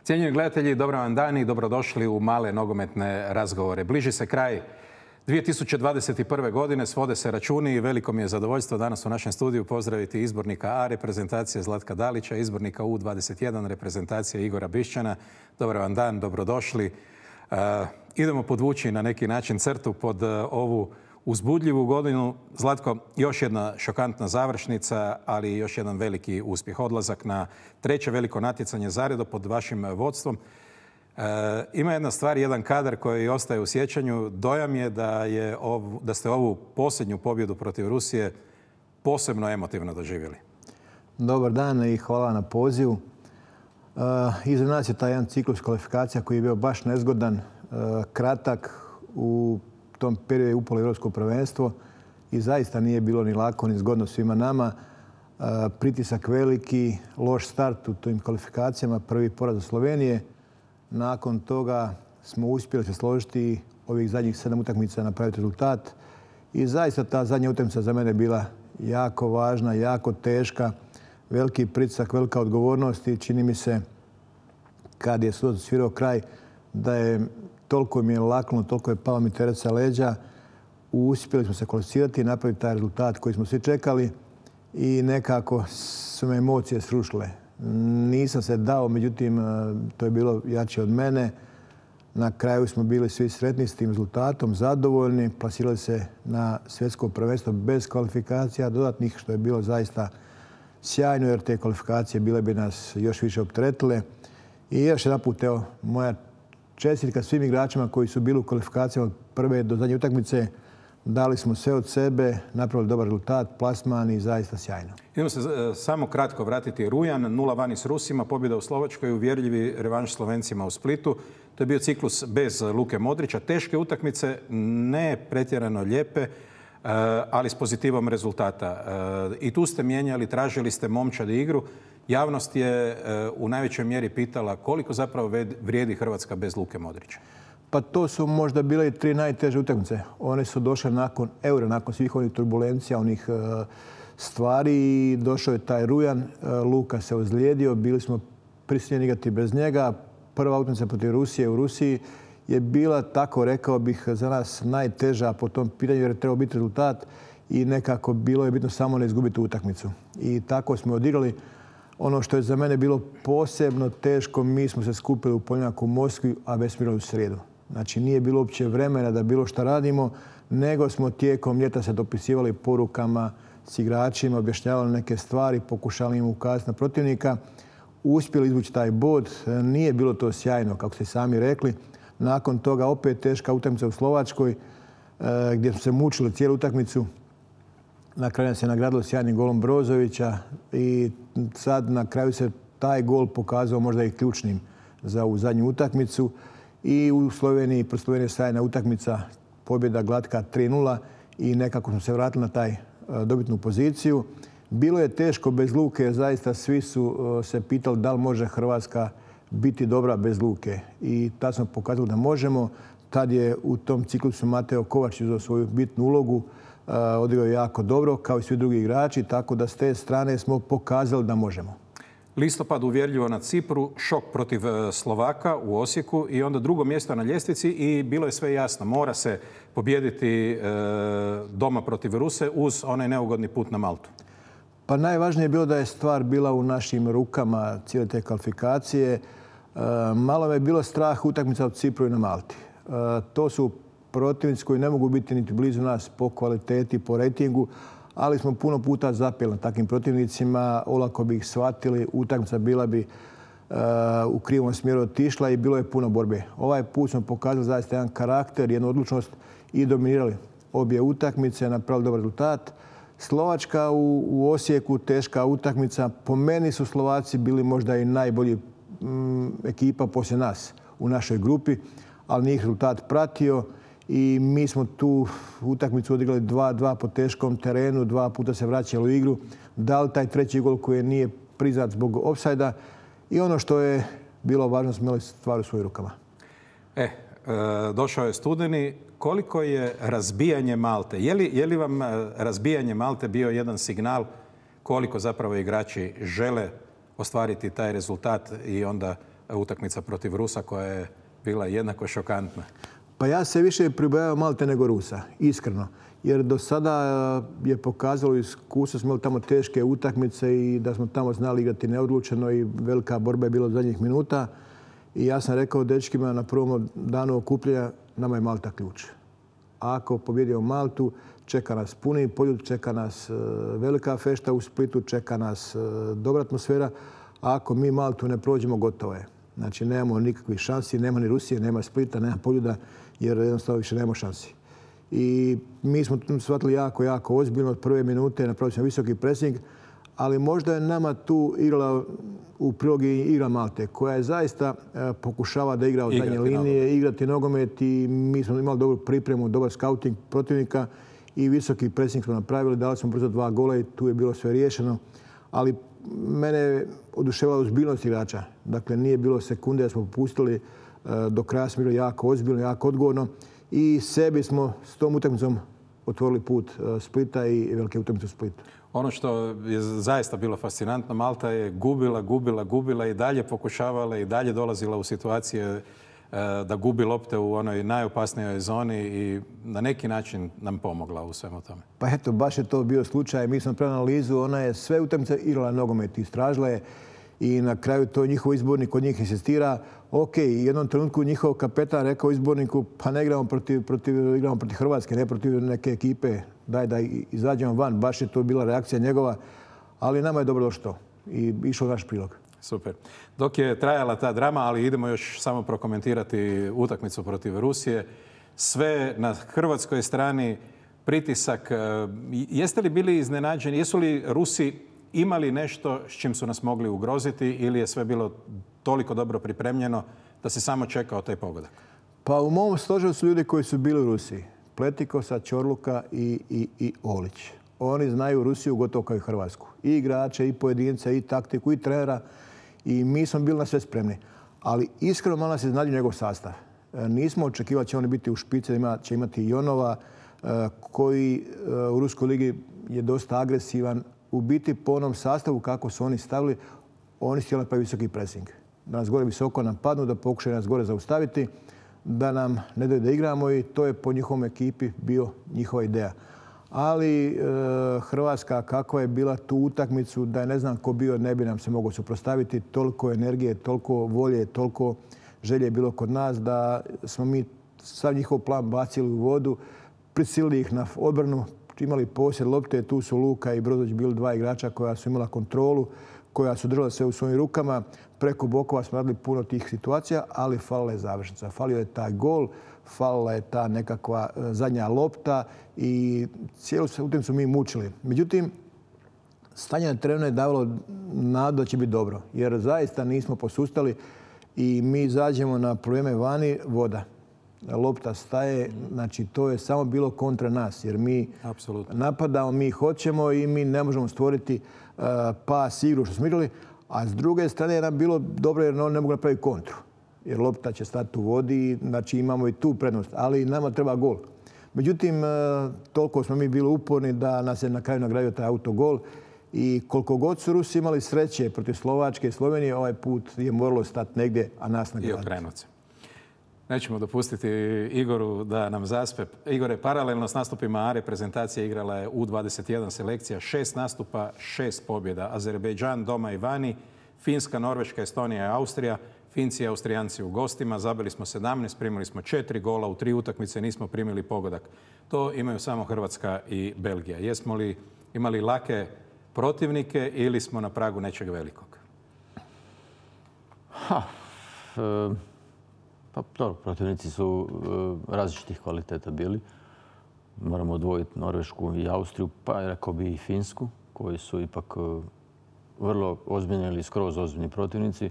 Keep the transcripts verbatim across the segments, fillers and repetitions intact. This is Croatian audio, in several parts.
Cijenjeni gledatelji, dobar vam dan i dobrodošli u male nogometne razgovore. Bliži se kraj dvije tisuće dvadeset prve. godine, svode se računi i veliko mi je zadovoljstvo danas u našem studiju pozdraviti izbornika A reprezentacije Zlatka Dalića, izbornika U dvadeset jedan reprezentacije Igora Bišćana. Dobar vam dan, dobrodošli. Uh, idemo podvući na neki način crtu pod uh, ovu uzbudljivu godinu. Zlatko, još jedna šokantna završnica, ali još jedan veliki uspjeh. Odlazak na treće veliko natjecanje zaredom pod vašim vodstvom. E, ima jedna stvar, jedan kadar koji ostaje u sjećanju. Dojam je da, je ov, da ste ovu posljednju pobjedu protiv Rusije posebno emotivno doživjeli. Dobar dan i hvala na pozivu. E, iza nas je taj jedan ciklus kvalifikacija koji je bio baš nezgodan, e, kratak. U tom periodu je upalo Europsko prvenstvo i zaista nije bilo ni lako ni zgodno svima nama. E, pritisak veliki, loš start u tim kvalifikacijama, prvi poraz od Slovenije. Nakon toga smo uspjeli se složiti ovih zadnjih sedam utakmica napraviti rezultat. I zaista ta zadnja utakmica za mene bila jako važna, jako teška. Veliki pritisak, velika odgovornost i čini mi se kad je sud svirao kraj da je toliko mi je laknulo, toliko je palo mi teret sa leđa. Uspjeli smo se kvalificirati i napraviti taj rezultat koji smo svi čekali i nekako su me emocije srušile. Nisam se dao, međutim, to je bilo jače od mene. Na kraju smo bili svi sretni s tim rezultatom, zadovoljni. Plasirali se na svjetsko prvenstvo bez kvalifikacija dodatnih, što je bilo zaista sjajno, jer te kvalifikacije bile bi nas još više opteretile. I još jedan put, evo, moja čestitka svim igračima koji su bili u kvalifikacijama od prve do zadnje utakmice. Dali smo sve od sebe, napravili dobar rezultat, plasman i zaista sjajno. Idemo se samo kratko vratiti. Rujan, nula vani s Rusima, pobjeda u Slovačkoj, uvjerljivi revanš Slovencima u Splitu. To je bio ciklus bez Luke Modrića. Teške utakmice, ne pretjerano lijepe, ali s pozitivom rezultata. I tu ste mijenjali, tražili ste momčadi igru. Javnost je u najvećoj mjeri pitala koliko zapravo vrijedi Hrvatska bez Luke Modrića. Pa to su možda bile i tri najteže utakmice. One su došle nakon eura, nakon svih onih turbulencija, onih uh, stvari. I došao je taj Rujan, uh, Luka se ozlijedio, bili smo prisiljeni igrati bez njega. Prva utakmica protiv Rusije u Rusiji je bila, tako rekao bih, za nas najteža po tom pitanju jer je trebao biti rezultat i nekako bilo je bitno samo ne izgubiti utakmicu. I tako smo odigrali. Ono što je za mene bilo posebno teško, mi smo se skupili u ponedjeljak u Moskvi, a već smo igrali u srijedu. Znači, nije bilo uopće vremena da bilo šta radimo, nego smo tijekom ljeta se dopisivali porukama s igračima, objašnjavali neke stvari, pokušali im ukazati na protivnika. Uspjeli izvući taj bod. Nije bilo to sjajno, kako ste sami rekli. Nakon toga opet teška utakmica u Slovačkoj, gdje smo se mučili cijelu utakmicu. Na kraju nas je nagradilo sjajnim golom Brozovića i sad na kraju se taj gol pokazao možda i ključnim za ovu zadnju utakmicu. I u Sloveniji, pro Slovenije sjajna utakmica, pobjeda glatka tri nula i nekako smo se vratili na taj dobitnu poziciju. Bilo je teško bez Luke, zaista svi su se pitali da li može Hrvatska biti dobra bez Luke. I tad smo pokazali da možemo. Tad je u tom ciklusu Mateo Kovač uzeo svoju bitnu ulogu, odigrao je jako dobro, kao i svi drugi igrači, tako da s te strane smo pokazali da možemo. Listopad uvjerljivo na Cipru, šok protiv Slovaka u Osijeku i onda drugo mjesto na ljestvici i bilo je sve jasno. Mora se pobijediti doma protiv Ruse uz onaj neugodni put na Maltu. Pa najvažnije je bilo da je stvar bila u našim rukama cijele te kvalifikacije. Malo me je bilo strah utakmica od Cipru i na Malti. To su protivnici koji ne mogu biti niti blizu nas po kvaliteti, po rejtingu, ali smo puno puta zapeli na takvim protivnicima, olako bi ih shvatili, utakmica bila bi uh, u krivom smjeru otišla i bilo je puno borbe. Ovaj put smo pokazali zaista jedan karakter, jednu odlučnost i dominirali obje utakmice, napravili dobar rezultat. Slovačka u, u Osijeku, teška utakmica. Po meni su Slovaci bili možda i najbolji mm, ekipa poslije nas u našoj grupi, ali njih rezultat pratio. I mi smo tu utakmicu odigrali dva dva po teškom terenu, dva puta se vraćali u igru. Dali taj treći gol koji nije priznat zbog ofsajda. I ono što je bilo važno, smo imali stvar u svojim rukama. E, došao je studeni. Koliko je razbijanje Malte? Je li, je li vam razbijanje Malte bio jedan signal koliko zapravo igrači žele ostvariti taj rezultat i onda utakmica protiv Rusa koja je bila jednako šokantna? Pa ja se više pribojavao Malte nego Rusa, iskreno. Jer do sada je pokazalo iskustvo, smo imali tamo teške utakmice i da smo tamo znali igrati neodlučeno i velika borba je bila od zadnjih minuta. I ja sam rekao dečkima na prvom danu okupljenja, nama je Malta ključ. Ako pobjedimo Maltu, čeka nas puni poljud, čeka nas velika fešta u Splitu, čeka nas dobra atmosfera. A ako mi Maltu ne prođemo, gotovo je. Znači, nemamo nikakvih šansi, nema ni Rusije, nema Splita, nema poljuda, jer jednostavno više nemamo šansi. I mi smo tu shvatili jako, jako ozbiljno od prve minute, napravili smo visoki presing, ali možda je nama tu igrala u prilog i igra Malte, koja je zaista pokušava da igra od zadnje linije, igrati nogomet i mi smo imali dobru pripremu, dobar skauting protivnika i visoki presing smo napravili, dali smo brzo dva gola i tu je bilo sve riješeno. Ali mene je oduševala ozbiljnost igrača. Dakle, nije bilo sekunde da smo popustili, do kraja smo bili jako ozbiljno, jako odgovorno i sebi smo s tom utakmicom otvorili put Splita i velike utakmice u Splitu. Ono što je zaista bilo fascinantno, Malta je gubila, gubila, gubila i dalje pokušavala i dalje dolazila u situacije da gubi lopte u onoj najopasnijoj zoni i na neki način nam pomogla u svemu tome. Pa eto, baš je to bio slučaj. Mi smo pravili analizu, ona je sve utakmice igrala nogomet, istražila je i na kraju to njihov izbornik kod njih insistira. Ok, u jednom trenutku njihov kapetan rekao izborniku, pa ne igramo protiv, protiv, igramo protiv Hrvatske, ne protiv neke ekipe, daj da izađemo van. Baš je to bila reakcija njegova, ali nama je dobro došlo i išao naš prilog. Super. Dok je trajala ta drama, ali idemo još samo prokomentirati utakmicu protiv Rusije. Sve na hrvatskoj strani pritisak. Jeste li bili iznenađeni? Jesu li Rusi imali nešto s čim su nas mogli ugroziti ili je sve bilo toliko dobro pripremljeno da se samo čekao taj pogodak? Pa u mom stožeru su ljudi koji su bili u Rusiji. Pletikosa, Čorluka i, i, i Olić. Oni znaju Rusiju gotovo kao i Hrvatsku. I igrače, i pojedince, i taktiku, i trenera. I mi smo bili na sve spremni. Ali iskreno malo nas je iznenadio njegov sastav. Nismo očekivali da će oni biti u špici, da će imati Jonova, koji u Ruskoj ligi je dosta agresivan. U biti po onom sastavu kako su oni stavili, oni su htjeli napraviti visoki pressing. Da nas gore visoko napadnu, da pokušaju nas gore zaustaviti, da nam ne daju da igramo i to je po njihovom ekipi bio njihova ideja. Ali e, Hrvatska kakva je bila tu utakmicu, da je ne znam ko bio, ne bi nam se mogao suprotstaviti. Toliko energije, toliko volje, toliko želje je bilo kod nas da smo mi sav njihov plan bacili u vodu, prisilili ih na odbranu, imali posjed lopte, tu su Luka i Brozović bili dva igrača koja su imala kontrolu, koja su držala sve u svojim rukama. Preko bokova smo radili puno tih situacija, ali falila je završnica. Falio je taj gol, falila je ta nekakva zadnja lopta i cijelu se utakmicu mi mučili. Međutim, stanje na terenu je davalo nadu da će biti dobro, jer zaista nismo posustali i mi izađemo na probleme vani, voda. Lopta staje, znači to je samo bilo kontra nas, jer mi Apsolutno. napadamo, mi hoćemo i mi ne možemo stvoriti uh, pas igru što smo igrali, a s druge strane je nam bilo dobro jer ne mogu napraviti kontru, jer lopta će stati u vodi, znači imamo i tu prednost, ali nama treba gol. Međutim, uh, toliko smo mi bili uporni da nas je na kraju nagradio taj autogol i koliko god su Rusi imali sreće protiv Slovačke i Slovenije, ovaj put je moralo stati negdje, a nas nagraditi. I okrenuti se. Nećemo dopustiti Igoru da nam zaspe. Igore, paralelno s nastupima A reprezentacije igrala je U dvadeset jedan selekcija. Šest nastupa, šest pobjeda. Azerbejdžan doma i vani, Finska, Norveška, Estonija i Austrija. Finci i Austrijanci u gostima. Zabili smo sedamnaest, primili smo četiri gola. U tri utakmice nismo primili pogodak. To imaju samo Hrvatska i Belgija. Jesmo li imali lake protivnike ili smo na pragu nečeg velikog? Ha, e... Pa dobro, protivnici su e, različitih kvaliteta bili. Moramo odvojiti Norvešku i Austriju, pa rekao bi i Finsku, koji su ipak e, vrlo ozbiljni ili skroz ozbiljni protivnici.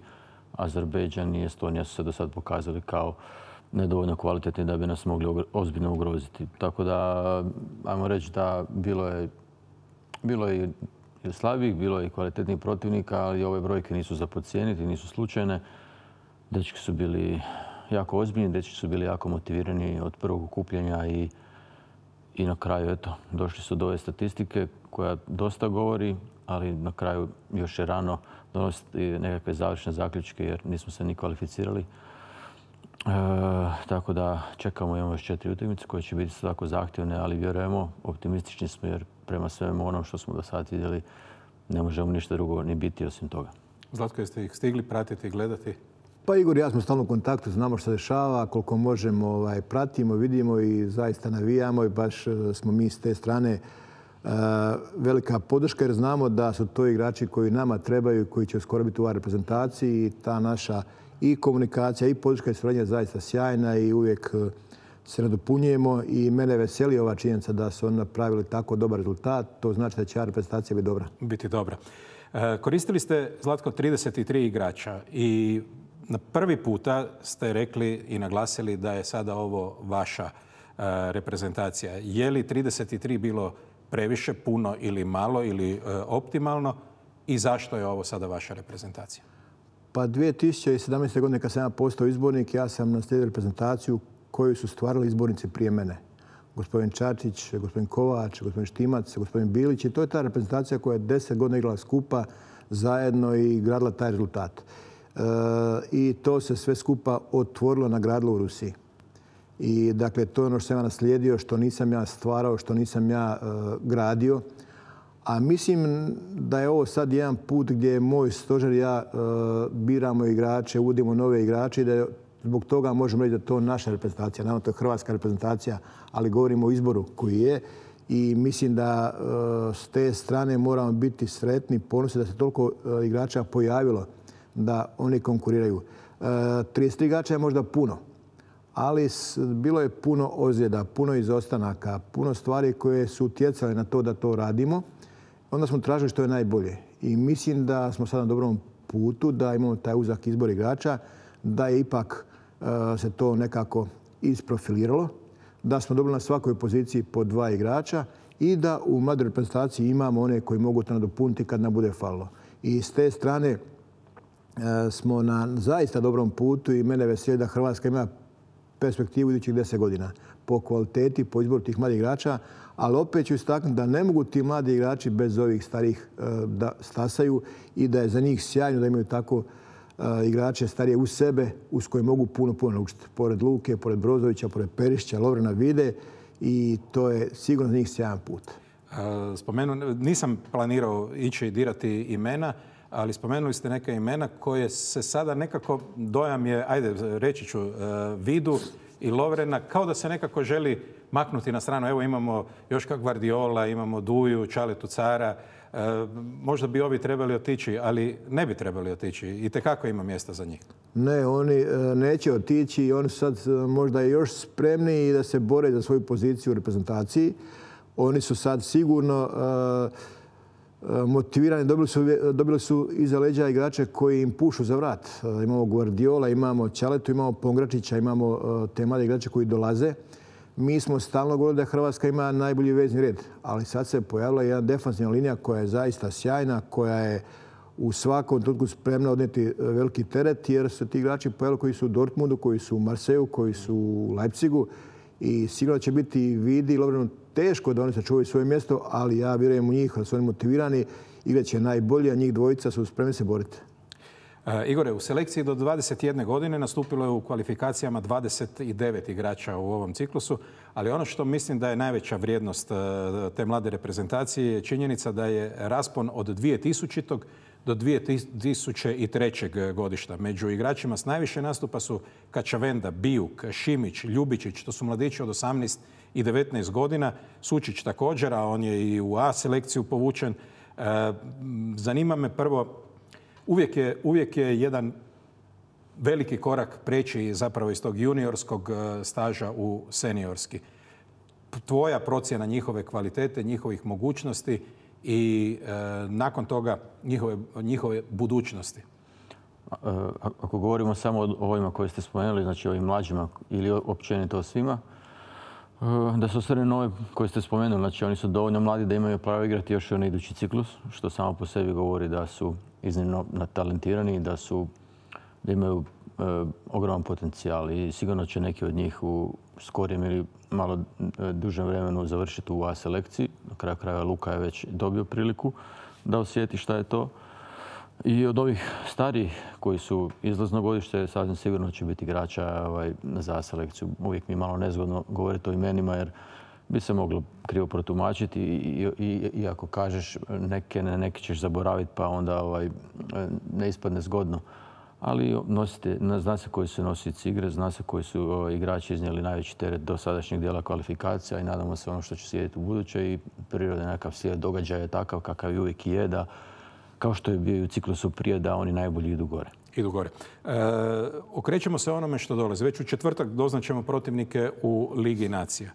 Azerbejdžan i Estonija su se do sad pokazali kao nedovoljno kvalitetni da bi nas mogli ozbiljno ugroziti. Tako da, ajmo reći da bilo je, bilo je i slabijih, bilo je i kvalitetnih protivnika, ali ove brojke nisu za podcijeniti, nisu slučajne. Dečki su bili jako ozbiljni, dečki su bili jako motivirani od prvog okupljanja i, i na kraju, eto, došli su do ove statistike koja dosta govori, ali na kraju još je rano donositi nekakve završne zaključke jer nismo se ni kvalificirali. E, tako da čekamo, imamo još četiri utakmice koje će biti svako zahtjevne, ali vjerujemo, optimistični smo jer prema svemu onom što smo do sada vidjeli ne možemo ništa drugo ni biti osim toga. Zlatko, jeste ih stigli pratiti i gledati? Pa Igor i ja smo stalno u kontaktu, znamo što se dešava, koliko možemo ovaj, pratimo, vidimo i zaista navijamo i baš smo mi s te strane uh, velika podrška jer znamo da su to igrači koji nama trebaju, koji će uskoro biti u ovoj reprezentaciji i ta naša i komunikacija i podrška i suradnja je zaista sjajna i uvijek se nadopunjujemo i mene veseli ova činjenica da su oni napravili tako dobar rezultat. To znači da će ova reprezentacija biti dobra. Biti dobra. Koristili ste, Zlatko, trideset tri igrača i na prvi puta ste rekli i naglasili da je sada ovo vaša reprezentacija. Je li trideset tri bilo previše, puno ili malo ili optimalno i zašto je ovo sada vaša reprezentacija? Pa dvije tisuće sedamnaeste. godine kad sam ja postao izbornik, ja sam naslijedio reprezentaciju koju su stvarali izbornici prije mene. Gospodin Čačić, gospodin Kovač, gospodin Štimac, gospodin Bilić. I to je ta reprezentacija koja je deset godina igrala skupa zajedno i gradila taj rezultat. E, I to se sve skupa otvorilo, nagradilo u Rusiji. I dakle, to je ono što sam ja naslijedio, što nisam ja stvarao, što nisam ja e, gradio. A mislim da je ovo sad jedan put gdje je moj stožer i ja e, biramo igrače, uvodimo nove igrače i da je zbog toga možemo reći da je to naša reprezentacija. Naravno, to je hrvatska reprezentacija, ali govorimo o izboru koji je. I mislim da e, s te strane moramo biti sretni, ponosni da se toliko e, igrača pojavilo da oni konkuriraju. E, trideset tri igrača je možda puno, ali s, bilo je puno ozljeda, puno izostanaka, puno stvari koje su utjecale na to da to radimo. Onda smo tražili što je najbolje. I mislim da smo sad na dobrom putu, da imamo taj uzak izbor igrača, da je ipak uh, se to nekako isprofiliralo, da smo dobili na svakoj poziciji po dva igrača i da u mladoj reprezentaciji imamo one koji mogu to nadopuniti kad nam bude falilo. I s te strane uh, smo na zaista dobrom putu i mene veseli da Hrvatska ima perspektivu idućih deset godina po kvaliteti, po izboru tih mladih igrača, ali opet ću istaknuti da ne mogu ti mladi igrači bez ovih starih da stasaju i da je za njih sjajno da imaju tako igrače starije uz sebe, uz koje mogu puno, puno naučiti. Pored Luke, pored Brozovića, pored Perišića, Lovrana vide i to je sigurno za njih sjajan put. Spomenu, nisam planirao ići dirati imena, ali spomenuli ste neka imena koje se sada nekako, dojam je, ajde reći ću, Vidu i Lovrena, kao da se nekako želi maknuti na stranu. Evo imamo Joška Gvardiola, imamo Duju, Čaletu Cara. E, možda bi ovi trebali otići, ali ne bi trebali otići. Itekako ima mjesta za njih. Ne, oni e, neće otići i oni su sad možda još spremniji da se bore za svoju poziciju u reprezentaciji. Oni su sad sigurno e, motivirani, dobili su, dobili su iza leđa igrače koji im pušu za vrat. E, imamo Gvardiola, imamo Čaletu, imamo Pongračića, imamo e, te mlade igrače koji dolaze. Mi smo stalno govorili da Hrvatska ima najbolji vezni red, ali sad se pojavila jedna defanzivna linija koja je zaista sjajna, koja je u svakom trenutku spremna odnijeti veliki teret, jer su ti igrači pojavili koji su u Dortmundu, koji su u Marseju, koji su u Leipzigu i sigurno će biti Vidi i Lovrenu teško da oni sačuvaju svoje mjesto, ali ja vjerujem u njih, da su oni motivirani, igrat će najbolji, a njih dvojica su spremni se boriti. Igore, u selekciji do dvadeset jedne godine nastupilo je u kvalifikacijama dvadeset devet igrača u ovom ciklusu, ali ono što mislim da je najveća vrijednost te mlade reprezentacije je činjenica da je raspon od dvije tisuće. do dvije tisuće treće. godišta. Među igračima s najviše nastupa su Kačavenda, Bijuk, Šimić, Ljubičić, to su mladići od osamnaest i devetnaest godina. Sučić također, a on je i u A selekciju povučen. Zanima me prvo, Uvijek je, uvijek je jedan veliki korak preći zapravo iz tog juniorskog staža u seniorski. Tvoja procjena njihove kvalitete, njihovih mogućnosti i e, nakon toga njihove, njihove budućnosti. Ako govorimo samo o ovima koje ste spomenuli, znači ovim mlađima ili općenito o svima, da su osvrne nove koje ste spomenuli, znači oni su dovoljno mladi da imaju pravo igrati još onaj idući ciklus, što samo po sebi govori da su iznimno talentirani, da su, da imaju e, ogroman potencijal i sigurno će neki od njih u skorijem ili malo dužem vremenu završiti u A selekciji. Na kraju krajeva Luka je već dobio priliku da osjeti šta je to. I od ovih starijih koji su izlazno godište, sasvim sigurno će biti igrača ovaj, za selekciju. Uvijek mi je malo nezgodno govoriti o imenima jer bi se moglo krivo protumačiti i, i, i ako kažeš neke, ne, neke ćeš zaboraviti pa onda ovaj, ne ispadne zgodno. Ali nosite, zna se koji su nosioci igre, zna se koji su ovaj, igrači iznijeli najveći teret do sadašnjeg dijela kvalifikacija i nadamo se ono što će slijediti u buduće i priroda nekav slijed događaja je takav kakav i uvijek je da kao što je bio i u ciklusu prije da oni najbolji idu gore. Idu gore. E, okrećemo se onome što dolazi. Već u četvrtak doznaćemo protivnike u Ligi nacija.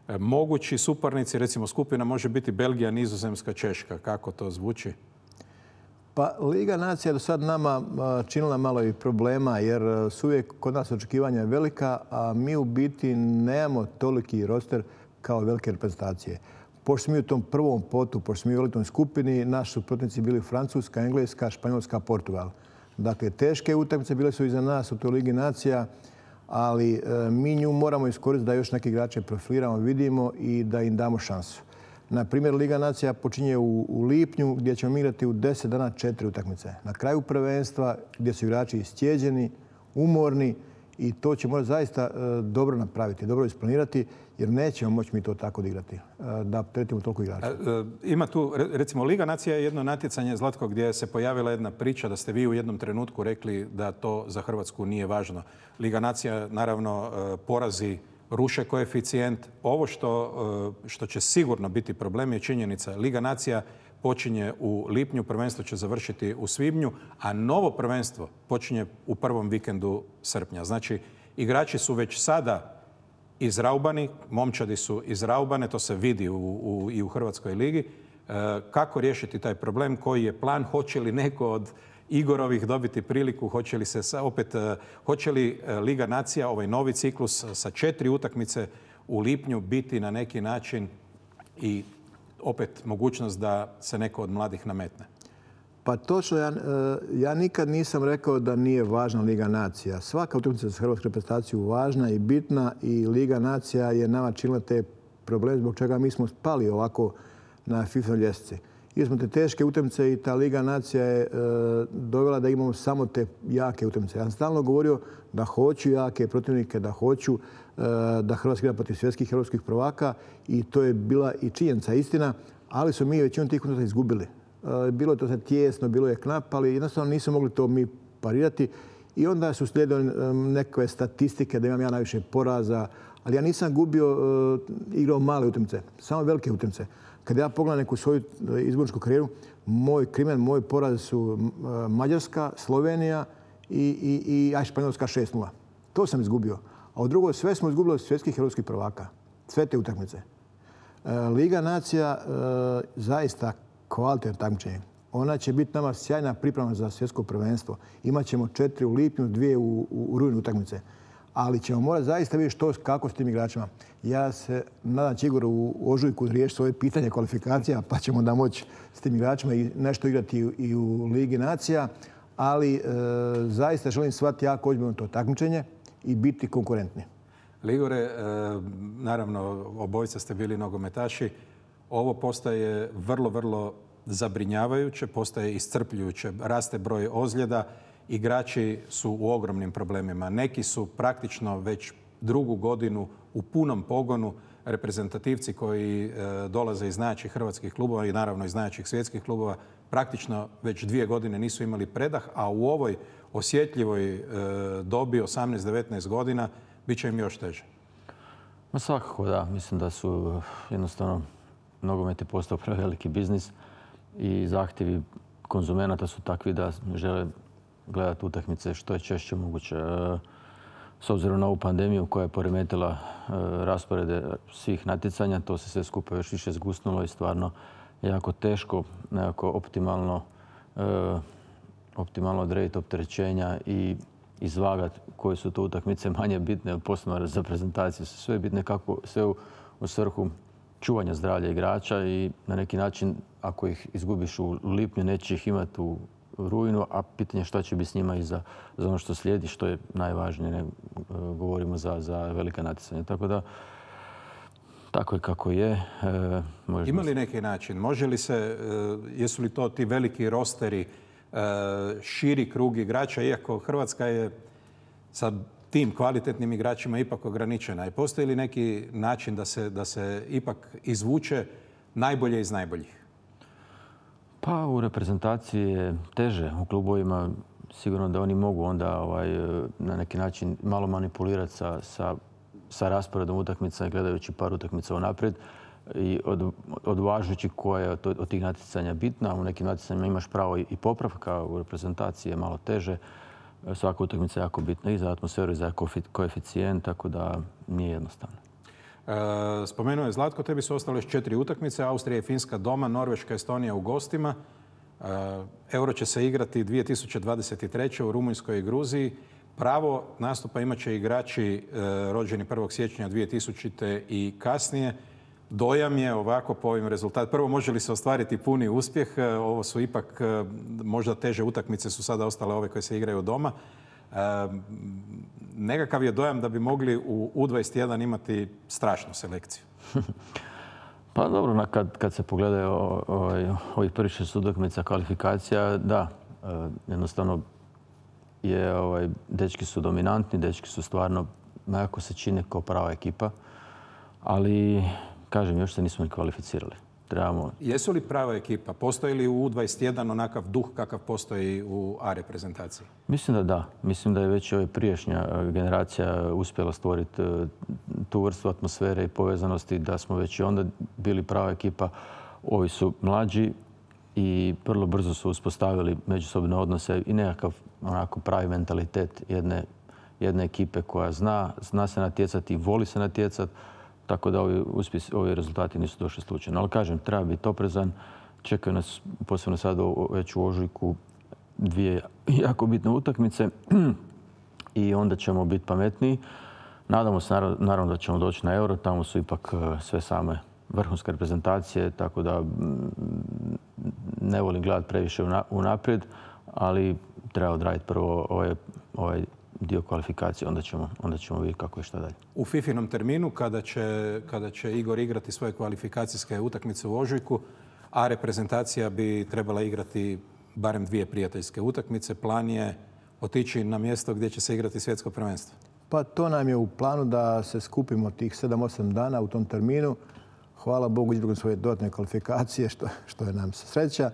E, mogući suparnici, recimo skupina može biti Belgija, Nizozemska, Češka. Kako to zvuči? Pa Liga nacija do sad nama činila malo i problema jer su uvijek kod nas očekivanja velika, a mi u biti nemamo toliki roster kao velike reprezentacije. Pošto smo mi u tom prvom potu, pošto smo mi u elitnoj skupini, naši su protivnici bili Francuska, Engleska, Španjolska, Portugal. Dakle, teške utakmice bile su iza nas u toj Ligi nacija, ali e, mi nju moramo iskoristiti da još neke igrače profiliramo, vidimo i da im damo šansu. Na primjer, Liga nacija počinje u, u lipnju gdje ćemo igrati u deset dana četiri utakmice. Na kraju prvenstva gdje su igrači istjeđeni, umorni i to će morati zaista e, dobro napraviti, dobro isplanirati jer nećemo moći mi to tako odigrati, da tretimo toliko igrača. Ima tu, recimo, Liga nacija je jedno natjecanje, Zlatko, gdje se pojavila jedna priča da ste vi u jednom trenutku rekli da to za Hrvatsku nije važno. Liga nacija, naravno, porazi ruše koeficijent. Ovo što, što će sigurno biti problem je činjenica. Liga nacija počinje u lipnju, prvenstvo će završiti u svibnju, a novo prvenstvo počinje u prvom vikendu srpnja. Znači, igrači su već sada izraubani, momčadi su izraubane, to se vidi u, u, i u Hrvatskoj ligi. E, kako riješiti taj problem? Koji je plan? Hoće li neko od Igorovih dobiti priliku? Hoće li se sa, opet, e, hoće li Liga nacija, ovaj novi ciklus sa četiri utakmice u lipnju biti na neki način i opet mogućnost da se neko od mladih nametne? Pa točno, ja, ja nikad nisam rekao da nije važna Liga nacija. Svaka utakmica za hrvatsku reprezentaciju važna i bitna i Liga nacija je nama činila te probleme zbog čega mi smo spali ovako na FIFA ljestvici. Ili smo te teške utakmice i ta Liga nacija je e, dovela da imamo samo te jake utakmice. Ja sam stalno govorio da hoću jake protivnike, da hoću e, da Hrvatska igra protiv svjetskih europskih prvaka i to je bila i činjenica, istina, ali su mi većinu tih utakmica izgubili. Bilo je to sad tijesno, bilo je knap, ali jednostavno nismo mogli to mi parirati. I onda su slijedile neke statistike da imam ja najviše poraza, ali ja nisam gubio, uh, igrao male utakmice, samo velike utakmice. Kad ja pogledam neku svoju izborničku karijeru, moj krimen, moj poraz su uh, Mađarska, Slovenija i, i, i aj, Španjolska šest nula. To sam izgubio. A u drugo sve smo izgubili od svjetskih europskih prvaka. Sve te utakmice. Uh, Liga nacija uh, zaista kvalitetno takmičenje. Ona će biti nama sjajna priprema za svjetsko prvenstvo. Imaćemo četiri u lipnju, dvije u, u, u rujnu utakmice. Ali ćemo morati zaista vidjeti što, kako s tim igračima. Ja se nadam će Igor u ožujku riješiti svoje pitanje kvalifikacija, pa ćemo da moći s tim igračima i nešto igrati i, i u Ligi nacija. Ali e, zaista želim shvatiti jako ozbiljno to takmičenje i biti konkurentni. Ligore, e, naravno, obojica ste bili nogometaši. Ovo postaje vrlo, vrlo zabrinjavajuće, postaje iscrpljujuće. Raste broj ozljeda, igrači su u ogromnim problemima. Neki su praktično već drugu godinu u punom pogonu. Reprezentativci koji e, dolaze iz najjačih hrvatskih klubova i naravno iz najjačih svjetskih klubova praktično već dvije godine nisu imali predah, a u ovoj osjetljivoj e, dobi osamnaest devetnaest godina bit će im još teže. Ma svakako da. Mislim da su jednostavno nogomet je postao preveliki biznis i zahtjevi konzumenata su takvi da žele gledati utakmice što je češće moguće. S obzirom na ovu pandemiju koja je poremetila rasporede svih natjecanja, to se sve skupa još više zgusnulo i stvarno je jako teško nekako optimalno, optimalno odrediti opterećenja i izvagati koje su to utakmice manje bitne, posebno za prezentaciju su sve bitne kako sve u, u svrhu čuvanja zdravlja igrača i na neki način ako ih izgubiš u lipnju neće ih imati u rujnu, a pitanje šta će biti s njima i za, za ono što slijedi, što je najvažnije, ne govorimo za, za velika natjecanja. Tako da, tako je kako je. E, Ima li neki način? Može li se, jesu li to ti veliki rosteri širi krug igrača, iako Hrvatska je sa tim kvalitetnim igračima ipak ograničena. I postoji li neki način da se, da se ipak izvuče najbolje iz najboljih? Pa u reprezentaciji je teže. U klubovima sigurno da oni mogu onda ovaj, na neki način malo manipulirati sa, sa, sa rasporedom utakmica, gledajući par utakmica unaprijed i od, odvažujući koja je od, od tih natjecanja bitna. U nekim natjecanjima imaš pravo i, i popravka, u reprezentaciji je malo teže. Svaka utakmica je jako bitna i za atmosferu i za koeficijent, tako da nije jednostavno. E, spomenuo je Zlatko, tebi su ostale još četiri utakmice. Austrija i Finska doma, Norveška i Estonija u gostima. E, Euro će se igrati dvije tisuće dvadeset treće u Rumunjskoj i Gruziji. Pravo nastupa imat će igrači e, rođeni prvog siječnja dvije tisućite i kasnije. Dojam je ovako po ovim rezultatima. Prvo, može li se ostvariti puni uspjeh? Ovo su ipak možda teže utakmice, su sada ostale ove koje se igraju doma. E, nekakav je dojam da bi mogli u U dvadeset jedan imati strašnu selekciju. Pa dobro, kad, kad se pogledaju ovaj, ovih prvih šest utakmica kvalifikacija, da, jednostavno je, ovaj, dečki su dominantni, dečki su stvarno, nekako se čine kao prava ekipa, ali kažem, još se nismo ni kvalificirali. Trebamo... Jesu li prava ekipa? Postoji li u U dvadeset jedan onakav duh kakav postoji u A reprezentaciji? Mislim da da. Mislim da je već ova prijašnja generacija uspjela stvoriti tu vrstu atmosfere i povezanosti, da smo već i onda bili prava ekipa. Ovi su mlađi i vrlo brzo su uspostavili međusobne odnose i nekakav onako pravi mentalitet jedne, jedne ekipe koja zna, zna se natjecati i voli se natjecati. Tako da ovi, uspjesi, ovi rezultati nisu došli slučajno. Ali kažem, treba biti oprezan. Čekaju nas, posebno sad već u ožujku, dvije jako bitne utakmice i onda ćemo biti pametniji. Nadamo se naravno da ćemo doći na Euro. Tamo su ipak sve same vrhunske reprezentacije, tako da ne volim gledati previše unaprijed, ali treba odraditi prvo ovaj, ovaj dio kvalifikacije, onda ćemo, onda ćemo vidjeti kako je šta dalje. U Fifinom terminu, kada će, kada će Igor igrati svoje kvalifikacijske utakmice u ožujku, a reprezentacija bi trebala igrati barem dvije prijateljske utakmice, plan je otići na mjesto gdje će se igrati svjetsko prvenstvo. Pa to nam je u planu da se skupimo tih sedam osam dana u tom terminu. Hvala Bogu, izbjegli svoje dodatne kvalifikacije, što, što je nam sreća.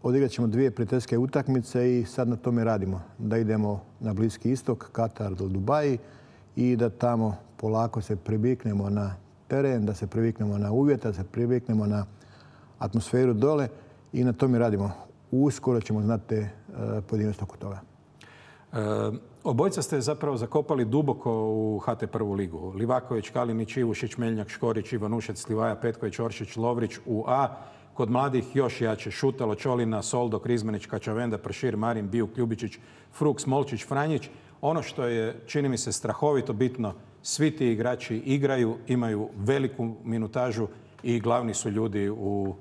Odigrat ćemo dvije prijateljske utakmice i sad na tome radimo. Da idemo na Bliski istok, Katar do Dubaji i da tamo polako se priviknemo na teren, da se priviknemo na uvjete, da se priviknemo na atmosferu dole i na tome radimo. Uskoro ćemo znati te pojedinosti oko toga. E, obojca ste zapravo zakopali duboko u H T prvu ligu. Livaković, Kalinić, Ivušić, Meljnjak, Škorić, Ivanušec, Slivaja, Petković, Oršić, Lovrić u A. Kod mladih još jače Šutalo, Čolina, Soldo, Krizmanić, Kačavenda, Pršir, Marin, Bijuk, Ljubičić, Fruk, Smolčić, Franjić. Ono što je, čini mi se, strahovito bitno, svi ti igrači igraju, imaju veliku minutažu i glavni su ljudi u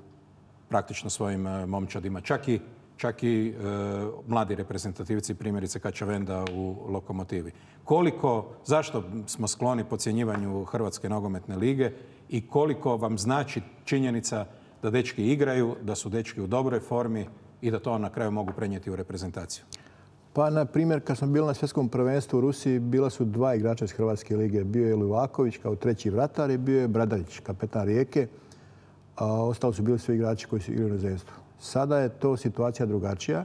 praktično svojim momčadima. Čak i, čak i e, mladi reprezentativci, primjerice Kačavenda u Lokomotivi. Koliko, zašto smo skloni podcjenjivanju Hrvatske nogometne lige i koliko vam znači činjenica da dečki igraju, da su dečki u dobroj formi i da to na kraju mogu prenijeti u reprezentaciju? Pa, na primjer, kad smo bili na svjetskom prvenstvu u Rusiji, bila su dva igrača iz Hrvatske lige. Bio je Livaković kao treći vratar i bio je Bradarić, kapetan Rijeke. A ostalo su bili svi igrači koji su igrali u inozemstvu. Sada je to situacija drugačija.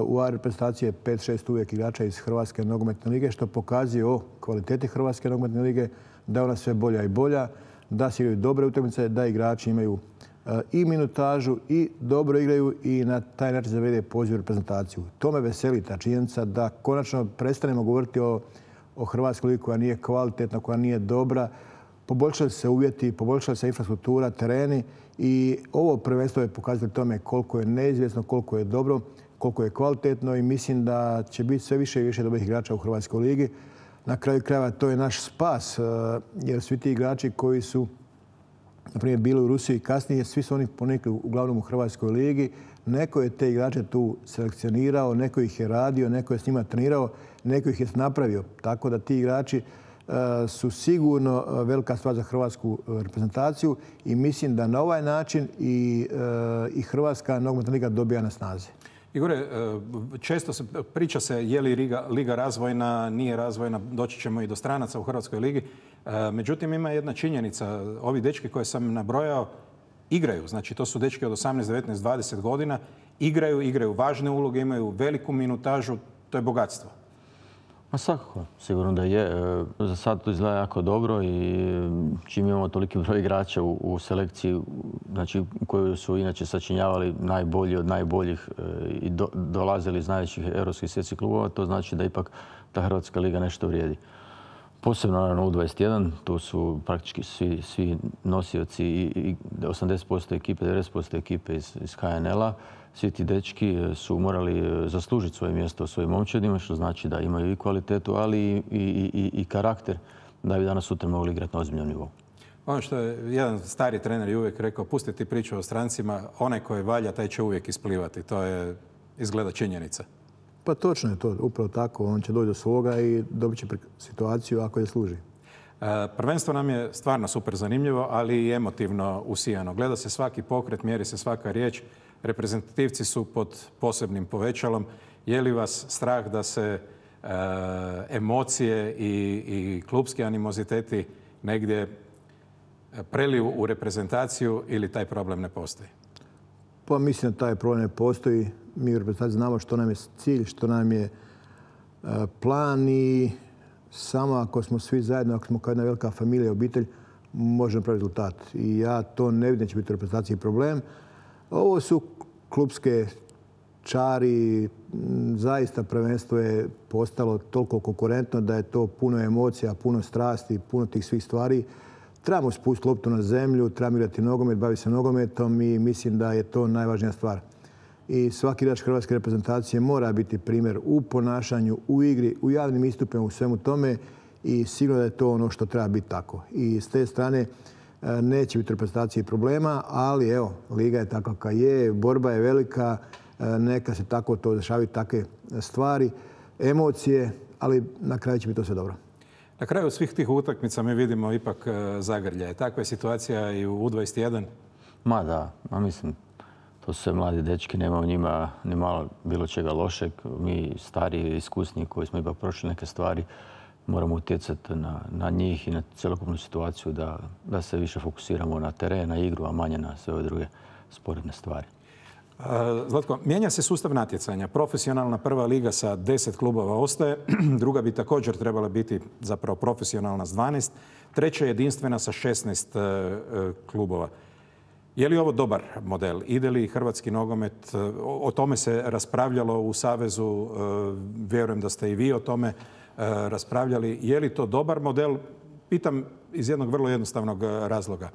U A reprezentaciji je pet šest uvijek igrača iz Hrvatske nogometne lige, što pokazuje o kvaliteti Hrvatske nogometne lige, da je ona sve bolja i bolja, da se igraju dobre utakmice, da igrači imaju i minutažu i dobro igraju i na taj način zavede poziv reprezentaciju. To me veseli, ta činjenica da konačno prestanemo govoriti o, o Hrvatskoj ligi koja nije kvalitetna, koja nije dobra. Poboljšali se uvjeti, poboljšala se infrastruktura, tereni i ovo prvenstvo je pokazalo tome koliko je neizvjesno, koliko je dobro, koliko je kvalitetno i mislim da će biti sve više i više dobrih igrača u Hrvatskoj ligi. Na kraju krajeva to je naš spas, jer svi ti igrači koji su na primjer bili u Rusiji kasnije, svi su oni ponikli uglavnom u Hrvatskoj ligi. Neko je te igrače tu selekcionirao, neko ih je radio, neko je s njima trenirao, neko ih je napravio. Tako da ti igrači su sigurno velika stvar za hrvatsku reprezentaciju i mislim da na ovaj način i, i Hrvatska nogometna liga dobija na snazi. Igore, često se priča se je li liga, liga razvojna, nije razvojna, doći ćemo i do stranaca u Hrvatskoj ligi. Međutim, ima jedna činjenica. Ovi dečki koje sam nabrojao igraju. Znači, to su dečki od osamnaest, devetnaest, dvadeset godina. Igraju, igraju važne uloge, imaju veliku minutažu. To je bogatstvo. Ma svakako, sigurno da je. Za sad to izgleda jako dobro i čim imamo toliki broj igrača u, u selekciji, znači u kojoj su inače sačinjavali najbolji od najboljih i do, dolazili iz najvećih europskih svjetskih klubova, to znači da ipak ta Hrvatska liga nešto vrijedi. Posebno naravno U dvadeset jedan, tu su praktički svi, svi nosioci i, i osamdeset posto ekipe, devedeset posto ekipe iz, iz H N L-a. Svi ti dečki su morali zaslužiti svoje mjesto u svojim momčadima, što znači da imaju i kvalitetu, ali i, i, i, i karakter da bi danas sutra mogli igrati na ozbiljnom nivou. Ono što je jedan stari trener i uvijek rekao, pustiti priču o strancima, onaj koji valja, taj će uvijek isplivati. To je izgleda činjenica. Pa točno je to, upravo tako. On će doći do svoga i dobit će situaciju ako je služi. Prvenstvo nam je stvarno super zanimljivo, ali i emotivno usijano. Gleda se svaki pokret, mjeri se svaka riječ. Reprezentativci su pod posebnim povećalom. Je li vas strah da se e, emocije i, i klubski animoziteti negdje preliju u reprezentaciju ili taj problem ne postoji? Pa mislim da taj problem ne postoji. Mi u reprezentaciji znamo što nam je cilj, što nam je e, plan i samo ako smo svi zajedno, ako smo kao jedna velika familija i obitelj, možemo pravi rezultat. I ja to ne vidim da će biti u reprezentaciji problem. Ovo su klubske čari. Zaista prvenstvo je postalo toliko konkurentno da je to puno emocija, puno strasti, puno tih svih stvari. Trebamo spustiti loptu na zemlju, trebamo igrati nogomet, baviti se nogometom i mislim da je to najvažnija stvar. I svaki igrač hrvatske reprezentacije mora biti primjer u ponašanju, u igri, u javnim istupima, u svemu tome i sigurno da je to ono što treba biti tako. I s te strane neće biti reprezentacije problema, ali evo, liga je takva kakva je, borba je velika, neka se tako to dešavaju takve stvari, emocije, ali na kraju će biti to sve dobro. Na kraju svih tih utakmica mi vidimo ipak zagrljaje. Takva je situacija i u U dvadeset jedan? Ma da, ma mislim, to su sve mladi dečki, nema u njima ni malo bilo čega lošeg. Mi stariji, iskusni koji smo ipak prošli neke stvari, moramo utjecati na, na njih i na cjelokupnu situaciju da, da se više fokusiramo na teren, na igru, a manje na sve ove druge sporedne stvari. Zlatko, mijenja se sustav natjecanja. Profesionalna prva liga sa deset klubova ostaje. Druga bi također trebala biti zapravo profesionalna s dvanaest. Treća je jedinstvena sa šesnaest klubova. Je li ovo dobar model? Ide li hrvatski nogomet? O tome se raspravljalo u Savezu. Vjerujem da ste i vi o tome raspravljali. Je li to dobar model? Pitam iz jednog vrlo jednostavnog razloga.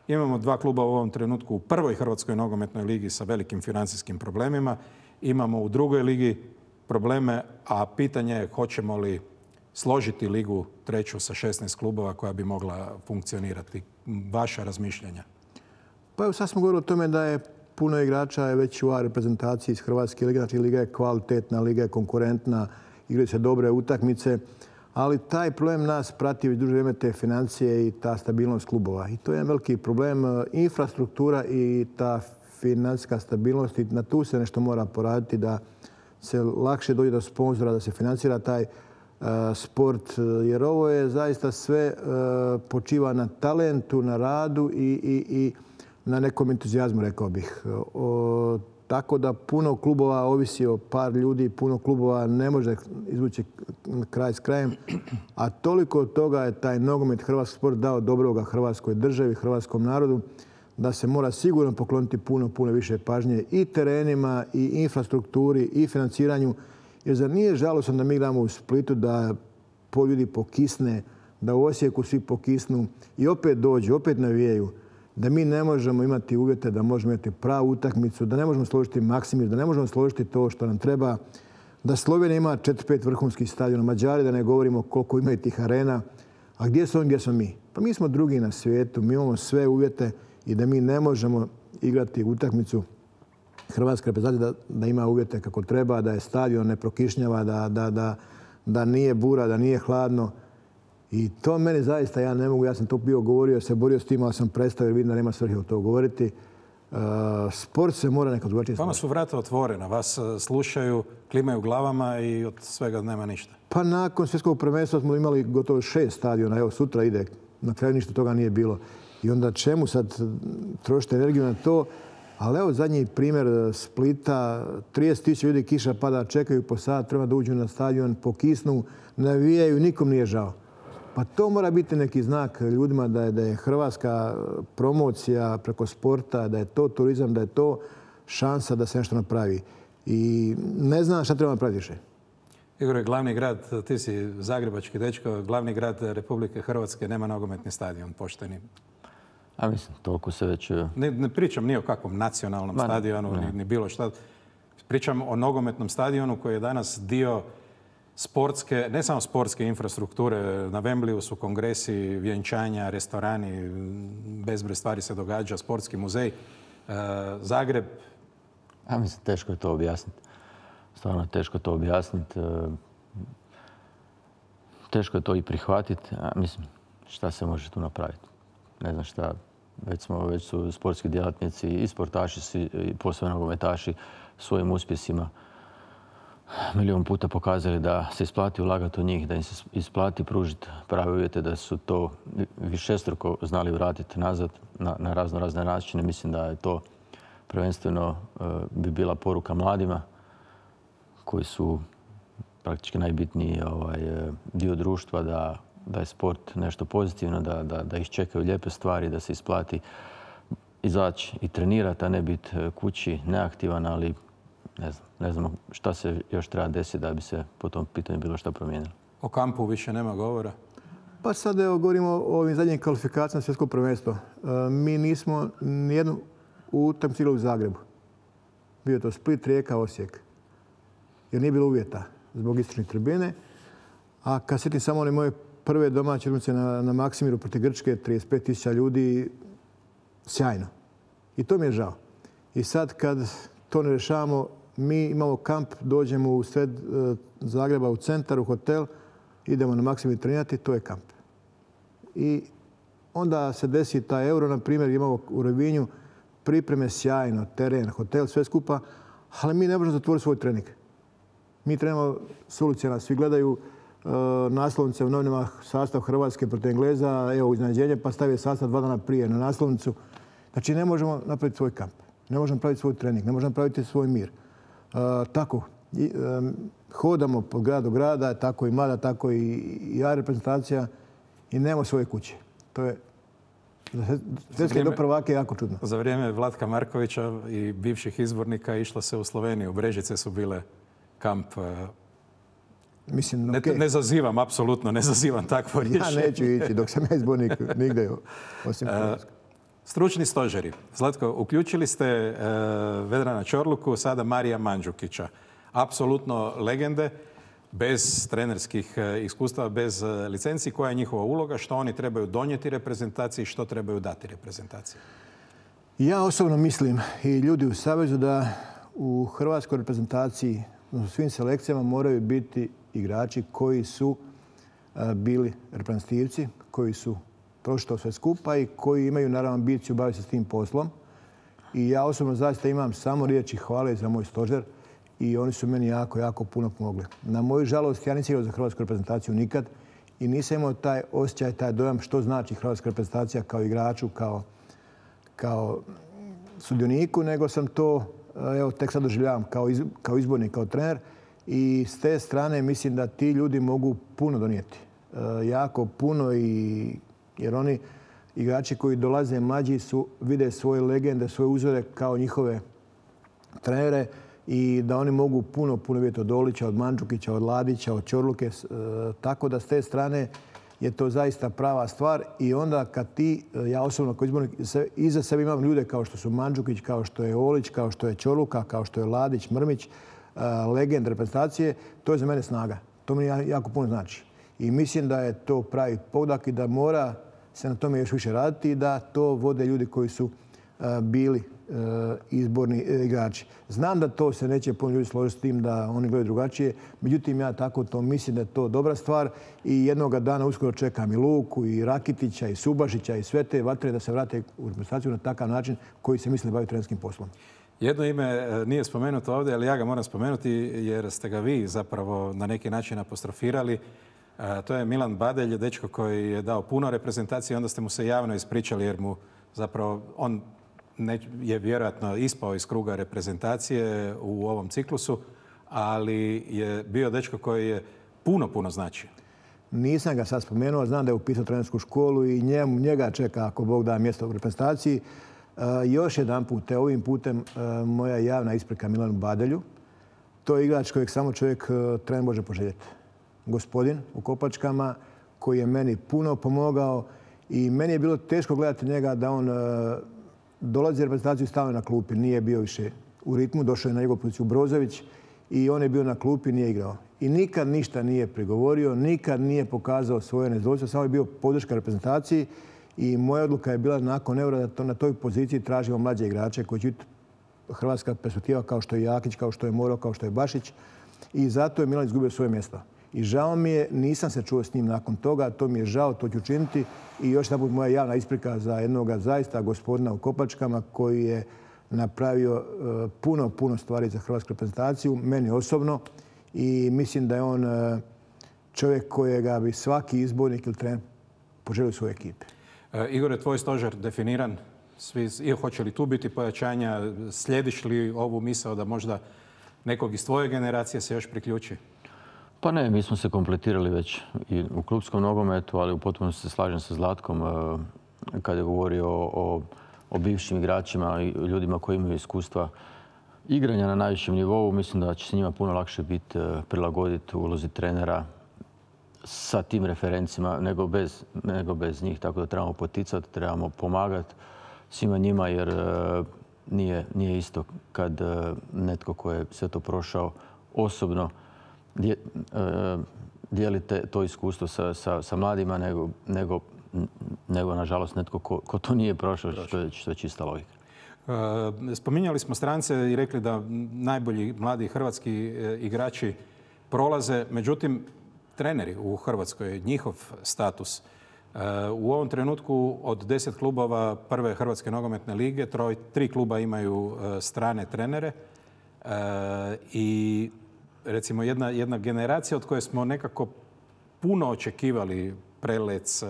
Imamo dva kluba u ovom trenutku u prvoj hrvatskoj nogometnoj ligi sa velikim financijskim problemima. Imamo u drugoj ligi probleme, a pitanje je hoćemo li složiti ligu treću sa šesnaest klubova koja bi mogla funkcionirati. Vaša razmišljanja? Pa evo sad smo govorili o tome da je puno igrača je već u A reprezentaciji iz Hrvatske lige. Znači liga je kvalitetna, liga je konkurentna, igraju se dobre utakmice. Ali taj problem nas prati već duže vrijeme, te financije i ta stabilnost klubova. I to je jedan veliki problem. Infrastruktura i ta financijska stabilnost, i na tu se nešto mora poraditi da se lakše dođe do sponzora, da se financira taj uh, sport. Jer ovo je zaista sve uh, počiva na talentu, na radu i, i, i na nekom entuzijazmu, rekao bih. O, Tako da puno klubova ovisi o par ljudi, puno klubova ne može izvući kraj s krajem. A toliko od toga je taj nogomet, hrvatski sport dao dobroga hrvatskoj državi, hrvatskom narodu, da se mora sigurno pokloniti puno, puno više pažnje i terenima, i infrastrukturi, i financiranju. Jer zar nije žalosno da mi igramo u Splitu, da po ljudi pokisne, da u Osijeku svi pokisnu i opet dođu, opet navijaju, da mi ne možemo imati uvjete da možemo imati pravu utakmicu, da ne možemo složiti Maksimir, da ne možemo složiti to što nam treba, da Slovenija ima četiri pet vrhunskih stadiona, Mađari da ne govorimo koliko imaju tih arena. A gdje su oni, gdje smo mi? Pa mi smo drugi na svijetu, mi imamo sve uvjete i da mi ne možemo igrati utakmicu hrvatske reprezentacije da, da ima uvjete kako treba, da je stadion ne prokišnjava, da, da, da, da nije bura, da nije hladno. I to meni zaista, ja ne mogu, ja sam to bio govorio, se borio s tim, ali sam prestao jer vidim da nema svrhe o to govoriti. Sport se mora nekako drugačije. Vama su vrata otvorena, vas slušaju, klimaju glavama i od svega nema ništa. Pa nakon svjetskog prvenstva smo imali gotovo šest stadiona. Evo, sutra ide. Na kraju ništa toga nije bilo. I onda čemu sad trošite energiju na to? Ali evo zadnji primjer Splita. trideset tisuća ljudi kiša pada, čekaju po sat, treba da uđu na stadion, pokisnu, navijaju, nikom nije žao. Pa to mora biti neki znak ljudima da je, da je hrvatska promocija preko sporta, da je to turizam, da je to šansa da se nešto napravi. I ne znam šta treba napraviti više. Igor je glavni grad, ti si zagrebački dečko, glavni grad Republike Hrvatske, nema nogometni stadion, pošteni. A mislim, toliko se već... Ne, ne pričam ni o kakvom nacionalnom Ma, stadionu, ni, ni bilo šta. Pričam o nogometnom stadionu koji je danas dio sportske, ne samo sportske infrastrukture. Na Wembleyu su kongresi, vjenčanja, restorani, bezbroj stvari se događa, sportski muzej. E, Zagreb... A mislim, teško je to objasniti. Stvarno teško to objasniti. Teško je to i prihvatiti. A mislim, šta se može tu napraviti? Ne znam šta. Već, smo, već su sportski djelatnici i sportaši, i posebno nogometaši svojim uspjesima milijon puta pokazali da se isplati ulagati u njih, da im se isplati pružiti prave uvjete, da su to višestruko znali vratiti nazad na, na razno razne načine. Mislim da je to prvenstveno bi bila poruka mladima koji su praktički najbitniji ovaj, dio društva, da, da je sport nešto pozitivno, da, da, da ih čekaju lijepe stvari, da se isplati izaći i trenirati, a ne biti kući neaktivan, ali ne znam, ne znam šta se još treba desiti da bi se po tom pitanju bilo šta promijenilo. O kampu više nema govora? Pa sad evo govorimo o ovim zadnjim kvalifikacijama svjetskog prvenstva. Mi nismo nijednu utakmicu igrali u Zagrebu. Bio je to Split, Rijeka, Osijek. Jer nije bilo uvjeta zbog istočne tribine. A kad sjetim samo one moje prve domaće utakmice na, na Maksimiru protiv Grčke, trideset pet tisuća ljudi, sjajno. I to mi je žao. I sad kad to ne rješavamo, mi imamo kamp, dođemo u sred e, Zagreba u centar, u hotel, idemo na Maksimiru trenirati, to je kamp. I onda se desi taj euro, na primjer, imamo u Rovinju pripreme sjajno, teren, hotel, sve skupa, ali mi ne možemo zatvoriti svoj trening. Mi trenamo s ulice, nas svi gledaju e, naslovnice u novinama, sastav Hrvatske protiv Engleza, evo iznenađenje, pa stavije sastav dva dana prije na naslovnicu. Znači ne možemo napraviti svoj kamp, ne možemo napraviti svoj trening, ne možemo napraviti svoj mir. E, tako, i, e, hodamo po gradu grada, tako i mlada, tako i, i ja reprezentacija i nemamo svoje kuće. To je svjetske do prvake jako čudno. Za vrijeme Vlatka Markovića i bivših izbornika išlo se u Sloveniju. Brežice su bile kamp. Mislim, ne, okay. ne zazivam, apsolutno ne zazivam takvo rješenje. Ja neću ići dok sam ja izbornik nigde osim Hrvatske. Stručni stožeri. Zlatko, uključili ste uh, Vedrana Čorluku, sada Marija Mandžukića. Apsolutno legende, bez trenerskih iskustava, bez licenci. Koja je njihova uloga, što oni trebaju donijeti reprezentaciji, što trebaju dati reprezentaciji? Ja osobno mislim i ljudi u Savezu da u hrvatskoj reprezentaciji u svim selekcijama moraju biti igrači koji su bili reprezentativci, koji su prošli to sve skupa i koji imaju naravno ambiciju baviti se s tim poslom. I ja osobno zaista imam samo riječi hvale za moj stožer i oni su meni jako, jako puno pomogli. Na moju žalost, ja nisam igrao za hrvatsku reprezentaciju nikad i nisam imao taj osjećaj, taj dojam što znači hrvatska reprezentacija kao igraču, kao, kao sudioniku, nego sam to evo, tek sad doživljavam kao, iz, kao izbornik, kao trener. I s te strane mislim da ti ljudi mogu puno donijeti. E, jako puno, i, jer oni igrači koji dolaze mlađi su, vide svoje legende, svoje uzore kao njihove trenere i da oni mogu puno, puno vidjeti od Olića, od Mandžukića, od Ladića, od Čorluke. E, tako da s te strane je to zaista prava stvar. I onda kad ti, ja osobno kao izbornik, iza sebe imam ljude kao što su Mandžukić, kao što je Olić, kao što je Čorluka, kao što je Ladić, Mrmić, legend reprezentacije, to je za mene snaga. To mi jako puno znači. I mislim da je to pravi pogodak i da mora se na tome još više raditi i da to vode ljudi koji su bili izborni igrači. Znam da to se neće puno ljudi složiti s tim da oni gledaju drugačije, međutim ja tako to mislim da je to dobra stvar i jednoga dana uskoro čekam i Luku, i Rakitića, i Subašića, i sve te vatre da se vrate u reprezentaciju na takav način koji se misle baviti trenerskim poslom. Jedno ime nije spomenuto ovdje, ali ja ga moram spomenuti jer ste ga vi zapravo na neki način apostrofirali. To je Milan Badelj, dečko koji je dao puno reprezentacije, onda ste mu se javno ispričali jer mu zapravo on je vjerojatno ispao iz kruga reprezentacije u ovom ciklusu, ali je bio dečko koji je puno, puno značio. Nisam ga sad spomenuo, znam da je upisao trenersku školu i njemu, njega čeka ako Bog da mjesto u reprezentaciji. Uh, još jedan put, te ovim putem uh, moja javna isprika Milanu Badelju. To je igrač kojeg samo čovjek uh, trener može poželjeti. Gospodin u Kopačkama koji je meni puno pomogao i meni je bilo teško gledati njega da on uh, dolazi u reprezentaciju i stavio na klupi. Nije bio više u ritmu, došao je na njegovu poziciju Brozović i on je bio na klupi i nije igrao. I nikad ništa nije prigovorio, nikad nije pokazao svoje nezadovoljstvo, samo je bio podrška reprezentaciji. I moja odluka je bila nakon Eura da to na toj poziciji tražimo mlađe igrače koji će biti hrvatska perspektiva kao što je Jakić, kao što je Moro, kao što je Bašić. I zato je Milan izgubio svoje mjesto. I žao mi je, nisam se čuo s njim nakon toga, to mi je žao, to ću učiniti. I još jedan put moja javna isprika za jednog zaista gospodina u Kopačkama koji je napravio puno, puno stvari za hrvatsku reprezentaciju, meni osobno. I mislim da je on čovjek kojega bi svaki izbornik ili trener poželio svoje ekipe. Igor, je tvoj stožer definiran? Svi, hoće li tu biti pojačanja? Slijediš li ovu misao da možda nekog iz tvoje generacije se još priključi? Pa ne, mi smo se kompletirali već i u klupskom nogometu, ali u potpunosti se slažem sa Zlatkom kada je govorio o, o bivšim igračima i ljudima koji imaju iskustva igranja na najvišem nivou. Mislim da će se njima puno lakše biti prilagoditi ulozi trenera sa tim referencima nego bez, nego bez njih. Tako da trebamo poticati, trebamo pomagati svima njima jer uh, nije, nije isto kad uh, netko ko je sve to prošao osobno dje, uh, dijeli te, to iskustvo sa, sa, sa mladima nego, nego, nego nažalost netko ko, ko to nije prošao, što je, što je čista logika. Spominjali smo strance i rekli da najbolji mladi hrvatski igrači prolaze, međutim treneri u Hrvatskoj, njihov status. U ovom trenutku od deset klubova prve Hrvatske nogometne lige, troj, tri kluba imaju strane trenere i recimo jedna, jedna generacija od koje smo nekako puno očekivali, Prelec,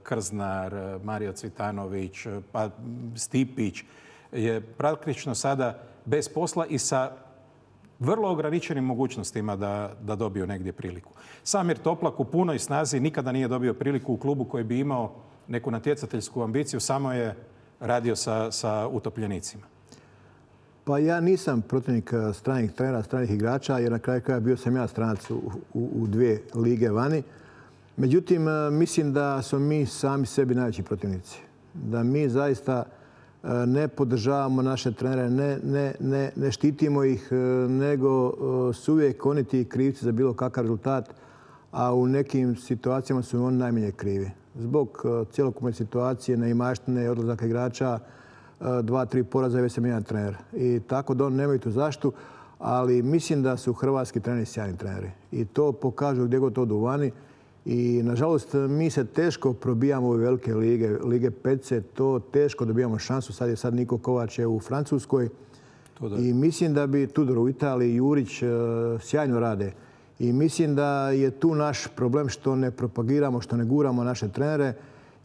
Krznar, Mario Cvitanović, pa Stipić, je praktično sada bez posla i sa vrlo ograničenim mogućnostima da, da dobiju negdje priliku. Samir Toplak u punoj snazi nikada nije dobio priliku u klubu koji bi imao neku natjecateljsku ambiciju, samo je radio sa, sa utopljenicima. Pa ja nisam protivnik stranih trenera, stranih igrača, jer na kraju kraja bio sam ja stranac u, u, u dvije lige vani. Međutim, mislim da smo mi sami sebi najveći protivnici. Da mi zaista ne podržavamo naše trenere, ne, ne, ne, ne štitimo ih, nego su uvijek oni ti krivci za bilo kakav rezultat, a u nekim situacijama su oni najmanje krivi. Zbog cjelokupne situacije, neimaštine, odlazaka igrača, dva, tri poraza i već sam jedan trener. I tako da oni nemaju tu zaštitu, ali mislim da su hrvatski treneri sjajni treneri. I to pokažu gdje god odu vani. I, nažalost, mi se teško probijamo u velike lige, lige petice, to teško dobijamo šansu. Sad je sad Niko Kovač je u Francuskoj. Tudor. I mislim da bi Tudor u Italiji, Jurić sjajno rade. I mislim da je tu naš problem što ne propagiramo, što ne guramo naše trenere.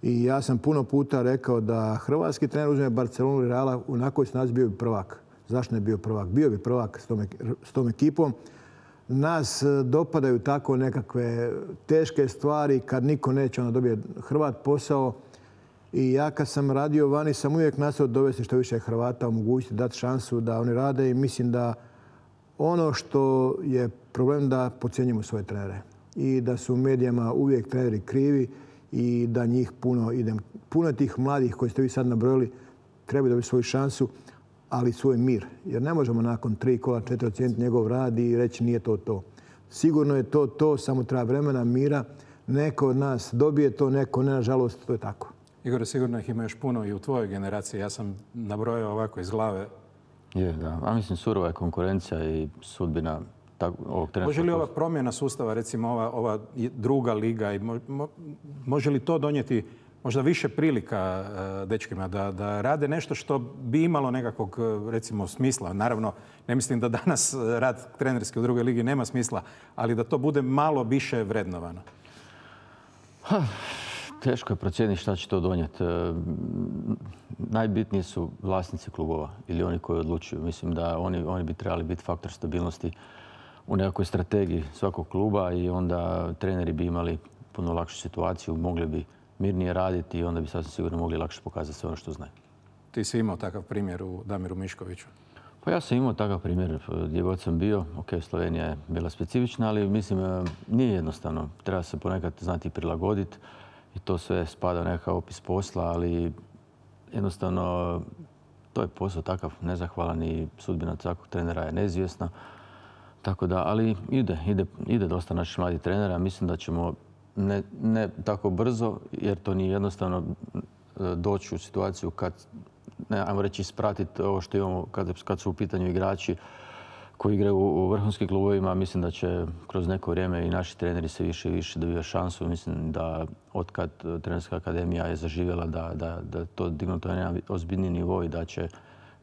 I ja sam puno puta rekao da hrvatski trener uzme Barcelonu i Reala u nakoj snazi bio bi prvak. Zašto ne bio prvak? Bio bi prvak s tom, s tom ekipom. Nas dopadaju tako nekakve teške stvari kad niko neće, onda dobije Hrvat posao. I ja kad sam radio vani sam uvijek nastojao dovesti što više Hrvata, omogućiti, dati šansu da oni rade i mislim da ono što je problem da podcjenjujemo svoje trenere i da su u medijama uvijek treneri krivi i da njih puno ide. Puno tih mladih koji ste vi sad nabrojili trebaju dobiti svoju šansu, ali svoj mir. Jer ne možemo nakon tri kola, četiri ocijeniti njegov rad i reći nije to to. Sigurno je to to, samo treba vremena, mira. Neko od nas dobije to, neko ne, nažalost, to je tako. Igor, sigurno ih ima još puno i u tvojoj generaciji. Ja sam nabrojao ovako iz glave. Je, da. A mislim, surova je konkurencija i sudbina ovog trenerskog. Može li ova promjena sustava, recimo ova, ova druga liga, i mo, mo, može li to donijeti možda više prilika uh, dečkima da, da rade nešto što bi imalo nekakvog, recimo, smisla? Naravno, ne mislim da danas rad trenerski u drugoj ligi nema smisla, ali da to bude malo više vrednovano. Ha, teško je procijeniti šta će to donijeti. E, najbitniji su vlasnici klubova ili oni koji odlučuju. Mislim da oni, oni bi trebali biti faktor stabilnosti u nekakvoj strategiji svakog kluba i onda treneri bi imali puno lakšu situaciju, mogli bi mirnije raditi i onda bi sasvim sigurno mogli lakše pokazati sve ono što znaju. Ti si imao takav primjer u Damiru Miškoviću? Pa ja sam imao takav primjer gdje god sam bio. Ok, Slovenija je bila specifična, ali mislim nije jednostavno. Treba se ponekad znati prilagoditi i to sve spada u nekakav opis posla, ali jednostavno to je posao takav nezahvalan i sudbina svakog trenera je neizvjesna. Tako da, ali ide, ide, ide dosta naših mladih trenera. Mislim da ćemo ne, ne tako brzo, jer to nije jednostavno doći u situaciju kad, ne, ajmo reći, ispratiti ovo što imamo kad, kad su u pitanju igrači koji igraju u vrhunskim klubovima. Mislim da će kroz neko vrijeme i naši treneri se više i više dobivaju šansu. Mislim da otkad trenerska akademija je zaživjela da, da, da to dignuto na jedan ozbiljni nivo i da će,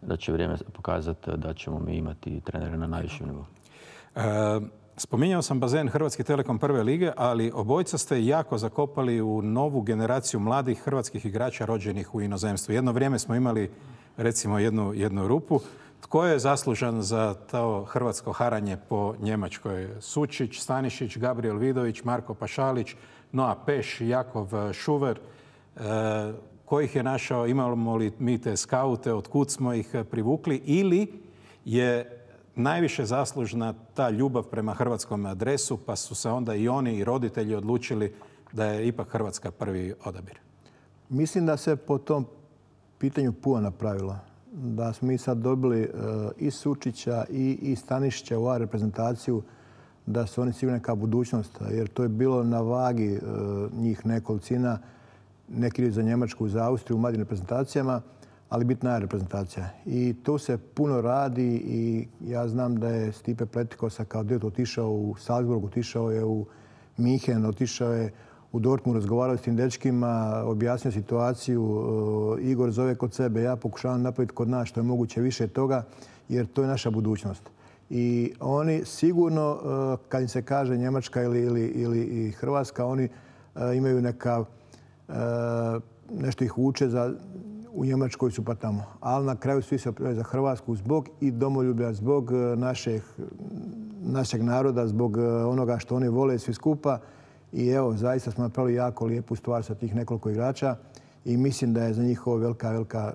da će vrijeme pokazati da ćemo mi imati trenere na najvišem nivou. E, spominjao sam bazen Hrvatski Telekom prve lige, ali obojca ste jako zakopali u novu generaciju mladih hrvatskih igrača rođenih u inozemstvu. Jedno vrijeme smo imali, recimo, jednu, jednu rupu. Tko je zaslužan za to hrvatsko haranje po Njemačkoj? Sučić, Stanišić, Gabriel Vidović, Marko Pašalić, Noa Peš, Jakov Šuver. E, ko ih je našao? Imamo li mi te skaute? Otkud smo ih privukli? Ili je najviše zaslužna ta ljubav prema hrvatskom adresu, pa su se onda i oni i roditelji odlučili da je ipak Hrvatska prvi odabir? Mislim da se po tom pitanju puno napravilo. Da smo mi sad dobili uh, i Sučića i, i Stanišića u A reprezentaciju, da su oni sigurno neka budućnost, jer to je bilo na vagi uh, njih nekolicina, neki idu za Njemačku, za Austriju u mladim reprezentacijama, ali bitna je reprezentacija. I tu se puno radi i ja znam da je Stipe Pletikosa kao direktor otišao u Salzburg, otišao je u Minhen, otišao je u Dortmund, razgovarao s tim dečkima, objasnio situaciju. Igor zove kod sebe, ja pokušavam napraviti kod nas što je moguće više toga, jer to je naša budućnost. I oni sigurno, kad im se kaže Njemačka ili, ili, ili Hrvatska, oni imaju neka, nešto ih uče za u Njemačkoj su pa tamo. Ali na kraju svi se opremaju za Hrvatsku zbog i domoljublja, zbog našeg, našeg naroda, zbog onoga što oni vole svi skupa. I evo, zaista smo napravili jako lijepu stvar sa tih nekoliko igrača i mislim da je za njih ovo velika, velika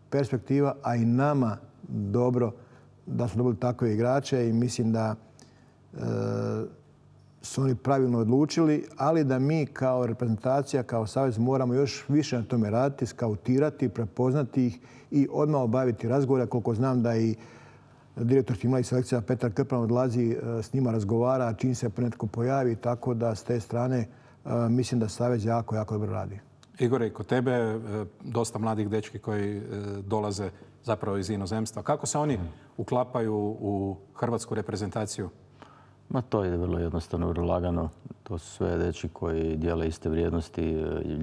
perspektiva, a i nama dobro da smo dobili takve igrače i mislim da e, su oni pravilno odlučili, ali da mi kao reprezentacija, kao savez moramo još više na tome raditi, skautirati, prepoznati ih i odmah obaviti razgovore. Koliko znam da i direktor tima i selekcija Petar Krpan odlazi, s njima razgovara, čim se netko pojavi, tako da s te strane mislim da savez jako, jako dobro radi. Igore, i kod tebe dosta mladih dečki koji dolaze zapravo iz inozemstva. Kako se oni uklapaju u hrvatsku reprezentaciju? Ma to ide vrlo jednostavno, vrlo lagano. To su sve dečki koji dijele iste vrijednosti,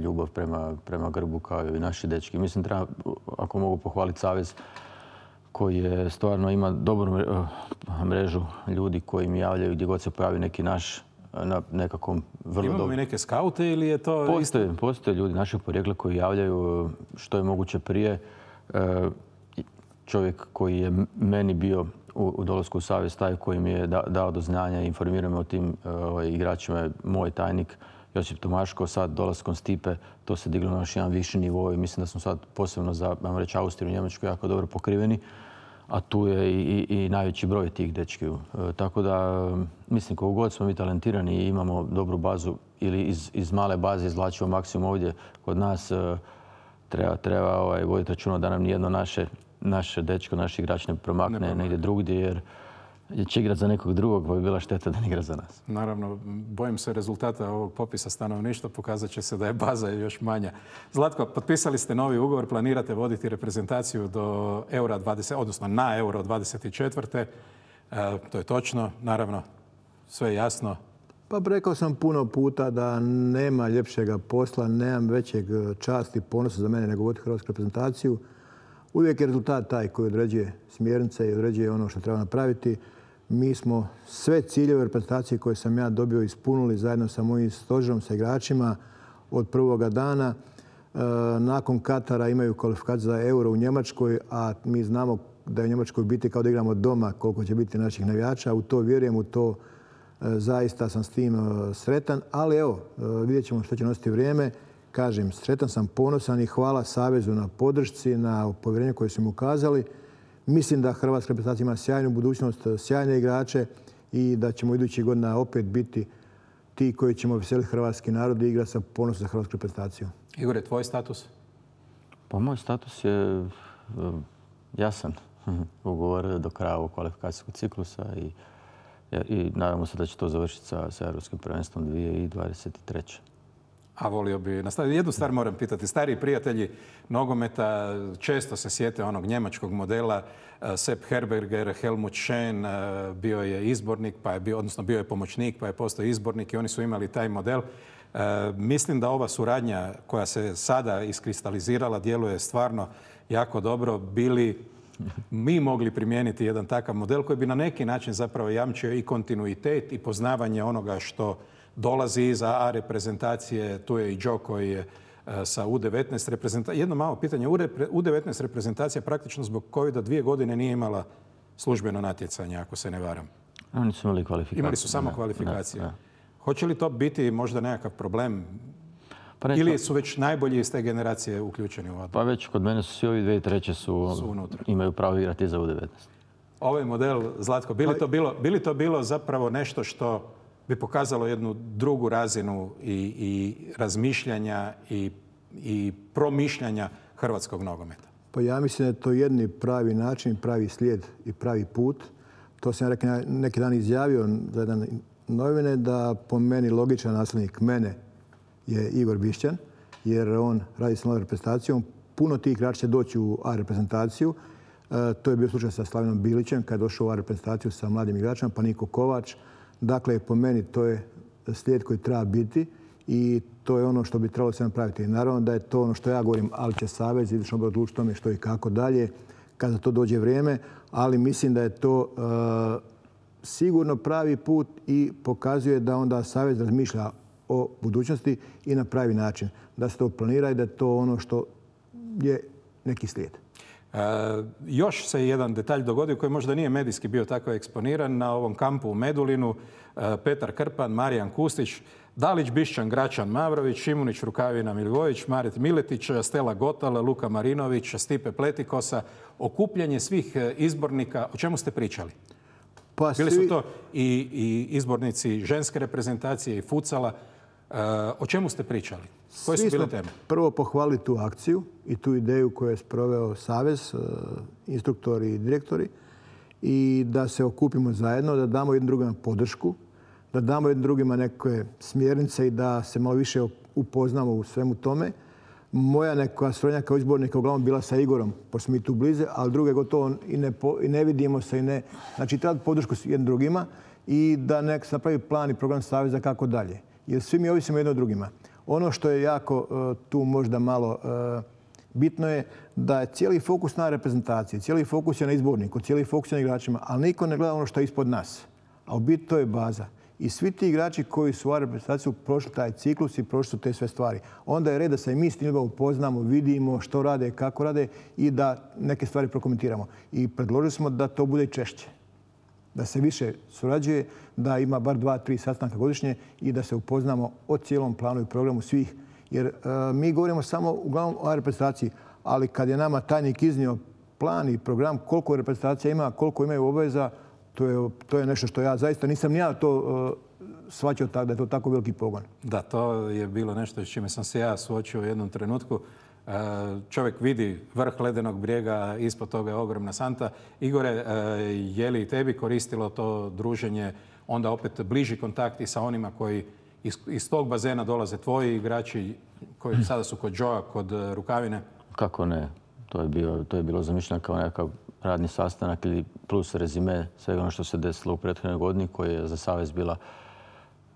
ljubav prema, prema grbu kao i naši dečki. Mislim, treba, ako mogu pohvaliti savez koji je stvarno ima dobru mrežu ljudi koji mi javljaju gdje god se pojavi neki naš na nekakvom vrlo Imamo dobro. mi neke skaute ili je to... Postoje, isto? postoje ljudi našeg porijekla koji javljaju što je moguće prije. Čovjek koji je meni bio u, u dolasku u savez, taj koji mi je da, dao do znanja i informirao me o tim ovaj, igračima je moj tajnik Josip Tomaško. Sad dolaskom Stipe to se diglo na još jedan viši nivo i mislim da smo sad posebno za, ajmo reći, Austriju i Njemačku jako dobro pokriveni. A tu je i, i, i najveći broj tih dečkiju. E, tako da, mislim, koliko god smo mi talentirani i imamo dobru bazu ili iz, iz male baze izvlačimo maksimum ovdje kod nas, e, treba, treba ovaj, voditi računa da nam nijedno naše, naše dečko, naš igrač ne promakne, ne negdje drugdje, jer će igrati za nekog drugog, pa bi bila šteta da ne igra za nas. Naravno, bojim se rezultata ovog popisa stanovništva, pokazat će se da je baza još manja. Zlatko, potpisali ste novi ugovor, planirate voditi reprezentaciju do Eura dvadeset, odnosno na Euro dvadeset četiri. E, to je točno, naravno, sve je jasno. Pa rekao sam puno puta da nema ljepšega posla, nemam većeg časti i ponosa za mene nego voditi hrvatsku reprezentaciju. Uvijek je rezultat taj koji određuje smjernice i određuje ono što treba napraviti. Mi smo sve ciljeve reprezentacije koje sam ja dobio ispunili zajedno sa mojim stožerom, sa igračima od prvoga dana. E, nakon Katara imaju kvalifikaciju za Euro u Njemačkoj, a mi znamo da je u Njemačkoj biti kao da igramo doma koliko će biti naših navijača. U to vjerujem, u to e, zaista sam s tim e, sretan. Ali evo, e, vidjet ćemo što će nositi vrijeme. Kažem, sretan sam, ponosan i hvala Savezu na podršci, na povjerenju koje su mu ukazali. Mislim da hrvatska reprezentacija ima sjajnu budućnost, sjajne igrače i da ćemo idućih godina opet biti ti koji ćemo veseliti hrvatski narod i igrati sa ponosom za hrvatsku reprezentaciju. Igore, tvoj status? Pa moj status je jasan. Ugovor do kraja ovog kvalifikacijskog ciklusa i, i nadamo se da će to završiti sa, sa Europskim prvenstvom dvije tisuće dvadeset treće. A volio bi nastaviti. Jednu stvar moram pitati. Stariji prijatelji nogometa često se sjete onog njemačkog modela. Sepp Herberger, Helmut Schön bio je izbornik, pa je bio, odnosno bio je pomoćnik, pa je postao izbornik i oni su imali taj model. Mislim da ova suradnja koja se sada iskristalizirala djeluje stvarno jako dobro. Bili mi mogli primijeniti jedan takav model koji bi na neki način zapravo jamčio i kontinuitet i poznavanje onoga što dolazi iza A reprezentacije. Tu je i Joe koji je sa U devetnaest reprezentacije. Jedno malo pitanje. U devetnaest reprezentacija praktično zbog covida dvije godine nije imala službeno natjecanje, ako se ne varam. Oni su imali kvalifikacije. Imali su samo kvalifikacije. Da, da. Hoće li to biti možda nekakav problem? Pa neću... Ili su već najbolji iz te generacije uključeni u odbor? Pa već kod mene su svi ovi dvije treće su, su unutra. Imaju pravo igrati za U devetnaest. Ovaj model, Zlatko, bi li to bilo, bi li to bilo zapravo nešto što bi pokazalo jednu drugu razinu i, i razmišljanja i, i promišljanja hrvatskog nogometa? Pa ja mislim da je to jedni pravi način, pravi slijed i pravi put. To sam ja neki dan izjavio za jedan novine da po meni logičan nasljednik mene je Igor Bišćan, jer on radi s novom reprezentacijom. Puno tih igrača će doći u A reprezentaciju. E, to je bio slučaj sa Slavinom Bilićem kad je došao u A reprezentaciju sa mladim igračima, pa Niko Kovač. Dakle, po meni to je slijed koji treba biti i to je ono što bi trebalo se napraviti. Naravno da je to ono što ja govorim, ali će Savez izvršno odbor odlučiti tome što i kako dalje kada to dođe vrijeme, ali mislim da je to uh, sigurno pravi put i pokazuje da onda Savez razmišlja o budućnosti i na pravi način. Da se to planira i da je to ono što je neki slijed. E, još se jedan detalj dogodio koji možda nije medijski bio tako eksponiran. Na ovom kampu u Medulinu e, Petar Krpan, Marijan Kustić, Dalić, Bišćan, Gračan, Mavrović, Šimunić, Rukavina, Milivojević, Maret Miletić, Stela Gotala, Luka Marinović, Stipe Pletikosa. Okupljanje svih izbornika. O čemu ste pričali? Pa Bili svi... su to i, i izbornici ženske reprezentacije i futsala. E, o čemu ste pričali? Koje su bile teme? Prvo pohvalili tu akciju i tu ideju koju je sproveo Savez, instruktori i direktori, i da se okupimo zajedno, da damo jednim drugima podršku, da damo jednim drugima neke smjernice i da se malo više upoznamo u svemu tome. Moja neka suradnja kao izbornika uglavnom bila sa Igorom, pošto smo i tu blize, ali druge gotovo i ne, i ne vidimo se. I ne, znači, treba podršku jednim drugima i da nek se napravi plan i program Saveza kako dalje. Jer svi mi ovisimo jedno od drugima. Ono što je jako uh, tu možda malo uh, bitno je da je cijeli fokus na reprezentaciji, cijeli fokus je na izborniku, cijeli fokus je na igračima, ali niko ne gleda ono što je ispod nas. A u biti to je baza. I svi ti igrači koji su u reprezentaciju prošli taj ciklus i prošli su te sve stvari. Onda je red da se mi s njima upoznamo, vidimo što rade, kako rade i da neke stvari prokomentiramo. I predložili smo da to bude češće. Da se više surađuje, da ima bar dva, tri sastanka godišnje i da se upoznamo o cijelom planu i programu svih. Jer e, mi govorimo samo uglavnom o reprezentaciji, ali kad je nama tajnik iznio plan i program koliko reprezentacija ima, koliko imaju obaveza, to je, to je nešto što ja zaista nisam ni ja to uh, shvaćao tako, da je to tako veliki pogon. Da, to je bilo nešto s čime sam se ja suočio u jednom trenutku. Čovjek vidi vrh ledenog brijega, ispod toga je ogromna santa. Igore, je li tebi koristilo to druženje, onda opet bliži kontakti sa onima koji iz, iz tog bazena dolaze tvoji igrači koji sada su kod Joea, kod Rukavine? Kako ne? To je, bio, to je bilo zamišljeno kao nekakav radni sastanak ili plus rezime svega ono što se desilo u prethodnoj godini koji je za Savez bila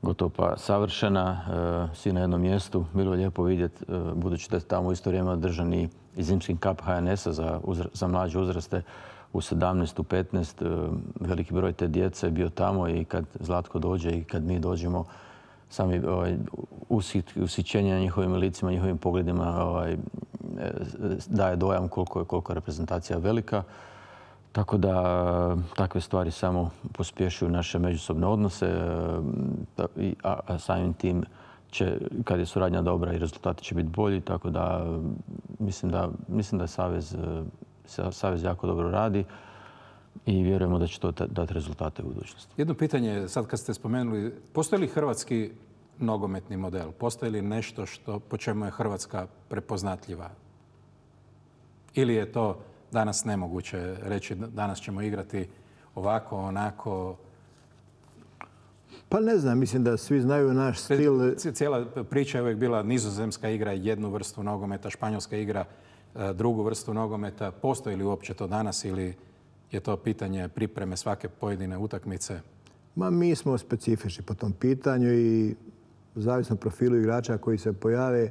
gotovo pa savršena. E, svi na jednom mjestu. Bilo je lijepo vidjeti, e, budući da je tamo u isto vrijeme održan i zimski kap H N S-a za, za mlađe uzraste u sedamnaest, u petnaest. E, veliki broj te djece je bio tamo i kad Zlatko dođe i kad mi dođemo, sami ovaj, usićenje na njihovim licima, njihovim pogledima ovaj, daje dojam koliko je, koliko je reprezentacija velika. Tako da takve stvari samo pospješuju naše međusobne odnose, a, a samim tim će, kad je suradnja dobra i rezultati će biti bolji. Tako da mislim da, mislim da Savez, Savez jako dobro radi i vjerujemo da će to dati rezultate u budućnosti. Jedno pitanje, sad kad ste spomenuli, postoji li hrvatski nogometni model? Postoji li nešto što, po čemu je Hrvatska prepoznatljiva? Ili je to danas nemoguće reći, danas ćemo igrati ovako, onako? Pa ne znam, mislim da svi znaju naš stil. Cijela priča je uvijek bila nizozemska igra jednu vrstu nogometa, španjolska igra drugu vrstu nogometa. Postoji li uopće to danas ili je to pitanje pripreme svake pojedine utakmice? Ma mi smo specifični po tom pitanju i zavisno profilu igrača koji se pojave,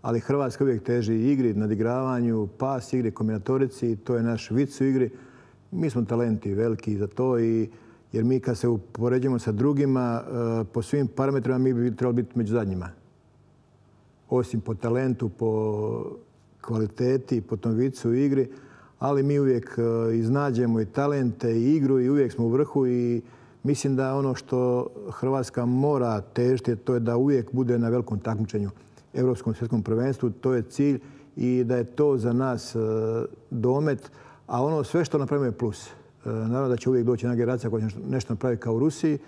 ali Hrvatska uvijek teži igri, nadigravanju, pas igri, kombinatorici, to je naš vic u igri. Mi smo talenti veliki za to, i, jer mi kad se upoređujemo sa drugima, po svim parametrima mi bi trebali biti među zadnjima. Osim po talentu, po kvaliteti, po tom vicu u igri, ali mi uvijek iznađemo i talente i igru i uvijek smo u vrhu, i mislim da ono što Hrvatska mora težiti, to je da uvijek bude na velikom takmičenju, Europskom svjetskom prvenstvu. To je cilj i da je to za nas domet, a ono sve što napravimo je plus. Naravno da će uvijek doći jedna generacija koja će nešto napraviti kao u Rusiji,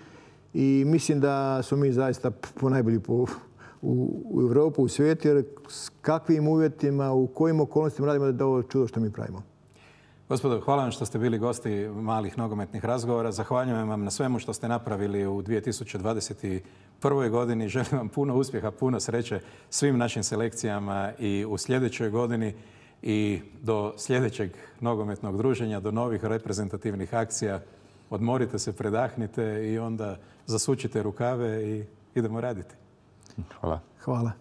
i mislim da smo mi zaista ponajbolji po, u, u Europu, u svijetu, jer s kakvim uvjetima, u kojim okolnostima radimo, da je ovo čudo što mi pravimo. Gospodo, hvala vam što ste bili gosti malih nogometnih razgovora. Zahvaljujem vam na svemu što ste napravili u dvije tisuće dvadeset prvoj godini. Želim vam puno uspjeha, puno sreće svim našim selekcijama i u sljedećoj godini, i do sljedećeg nogometnog druženja, do novih reprezentativnih akcija. Odmorite se, predahnite i onda zasučite rukave i idemo raditi. Hvala. Hvala.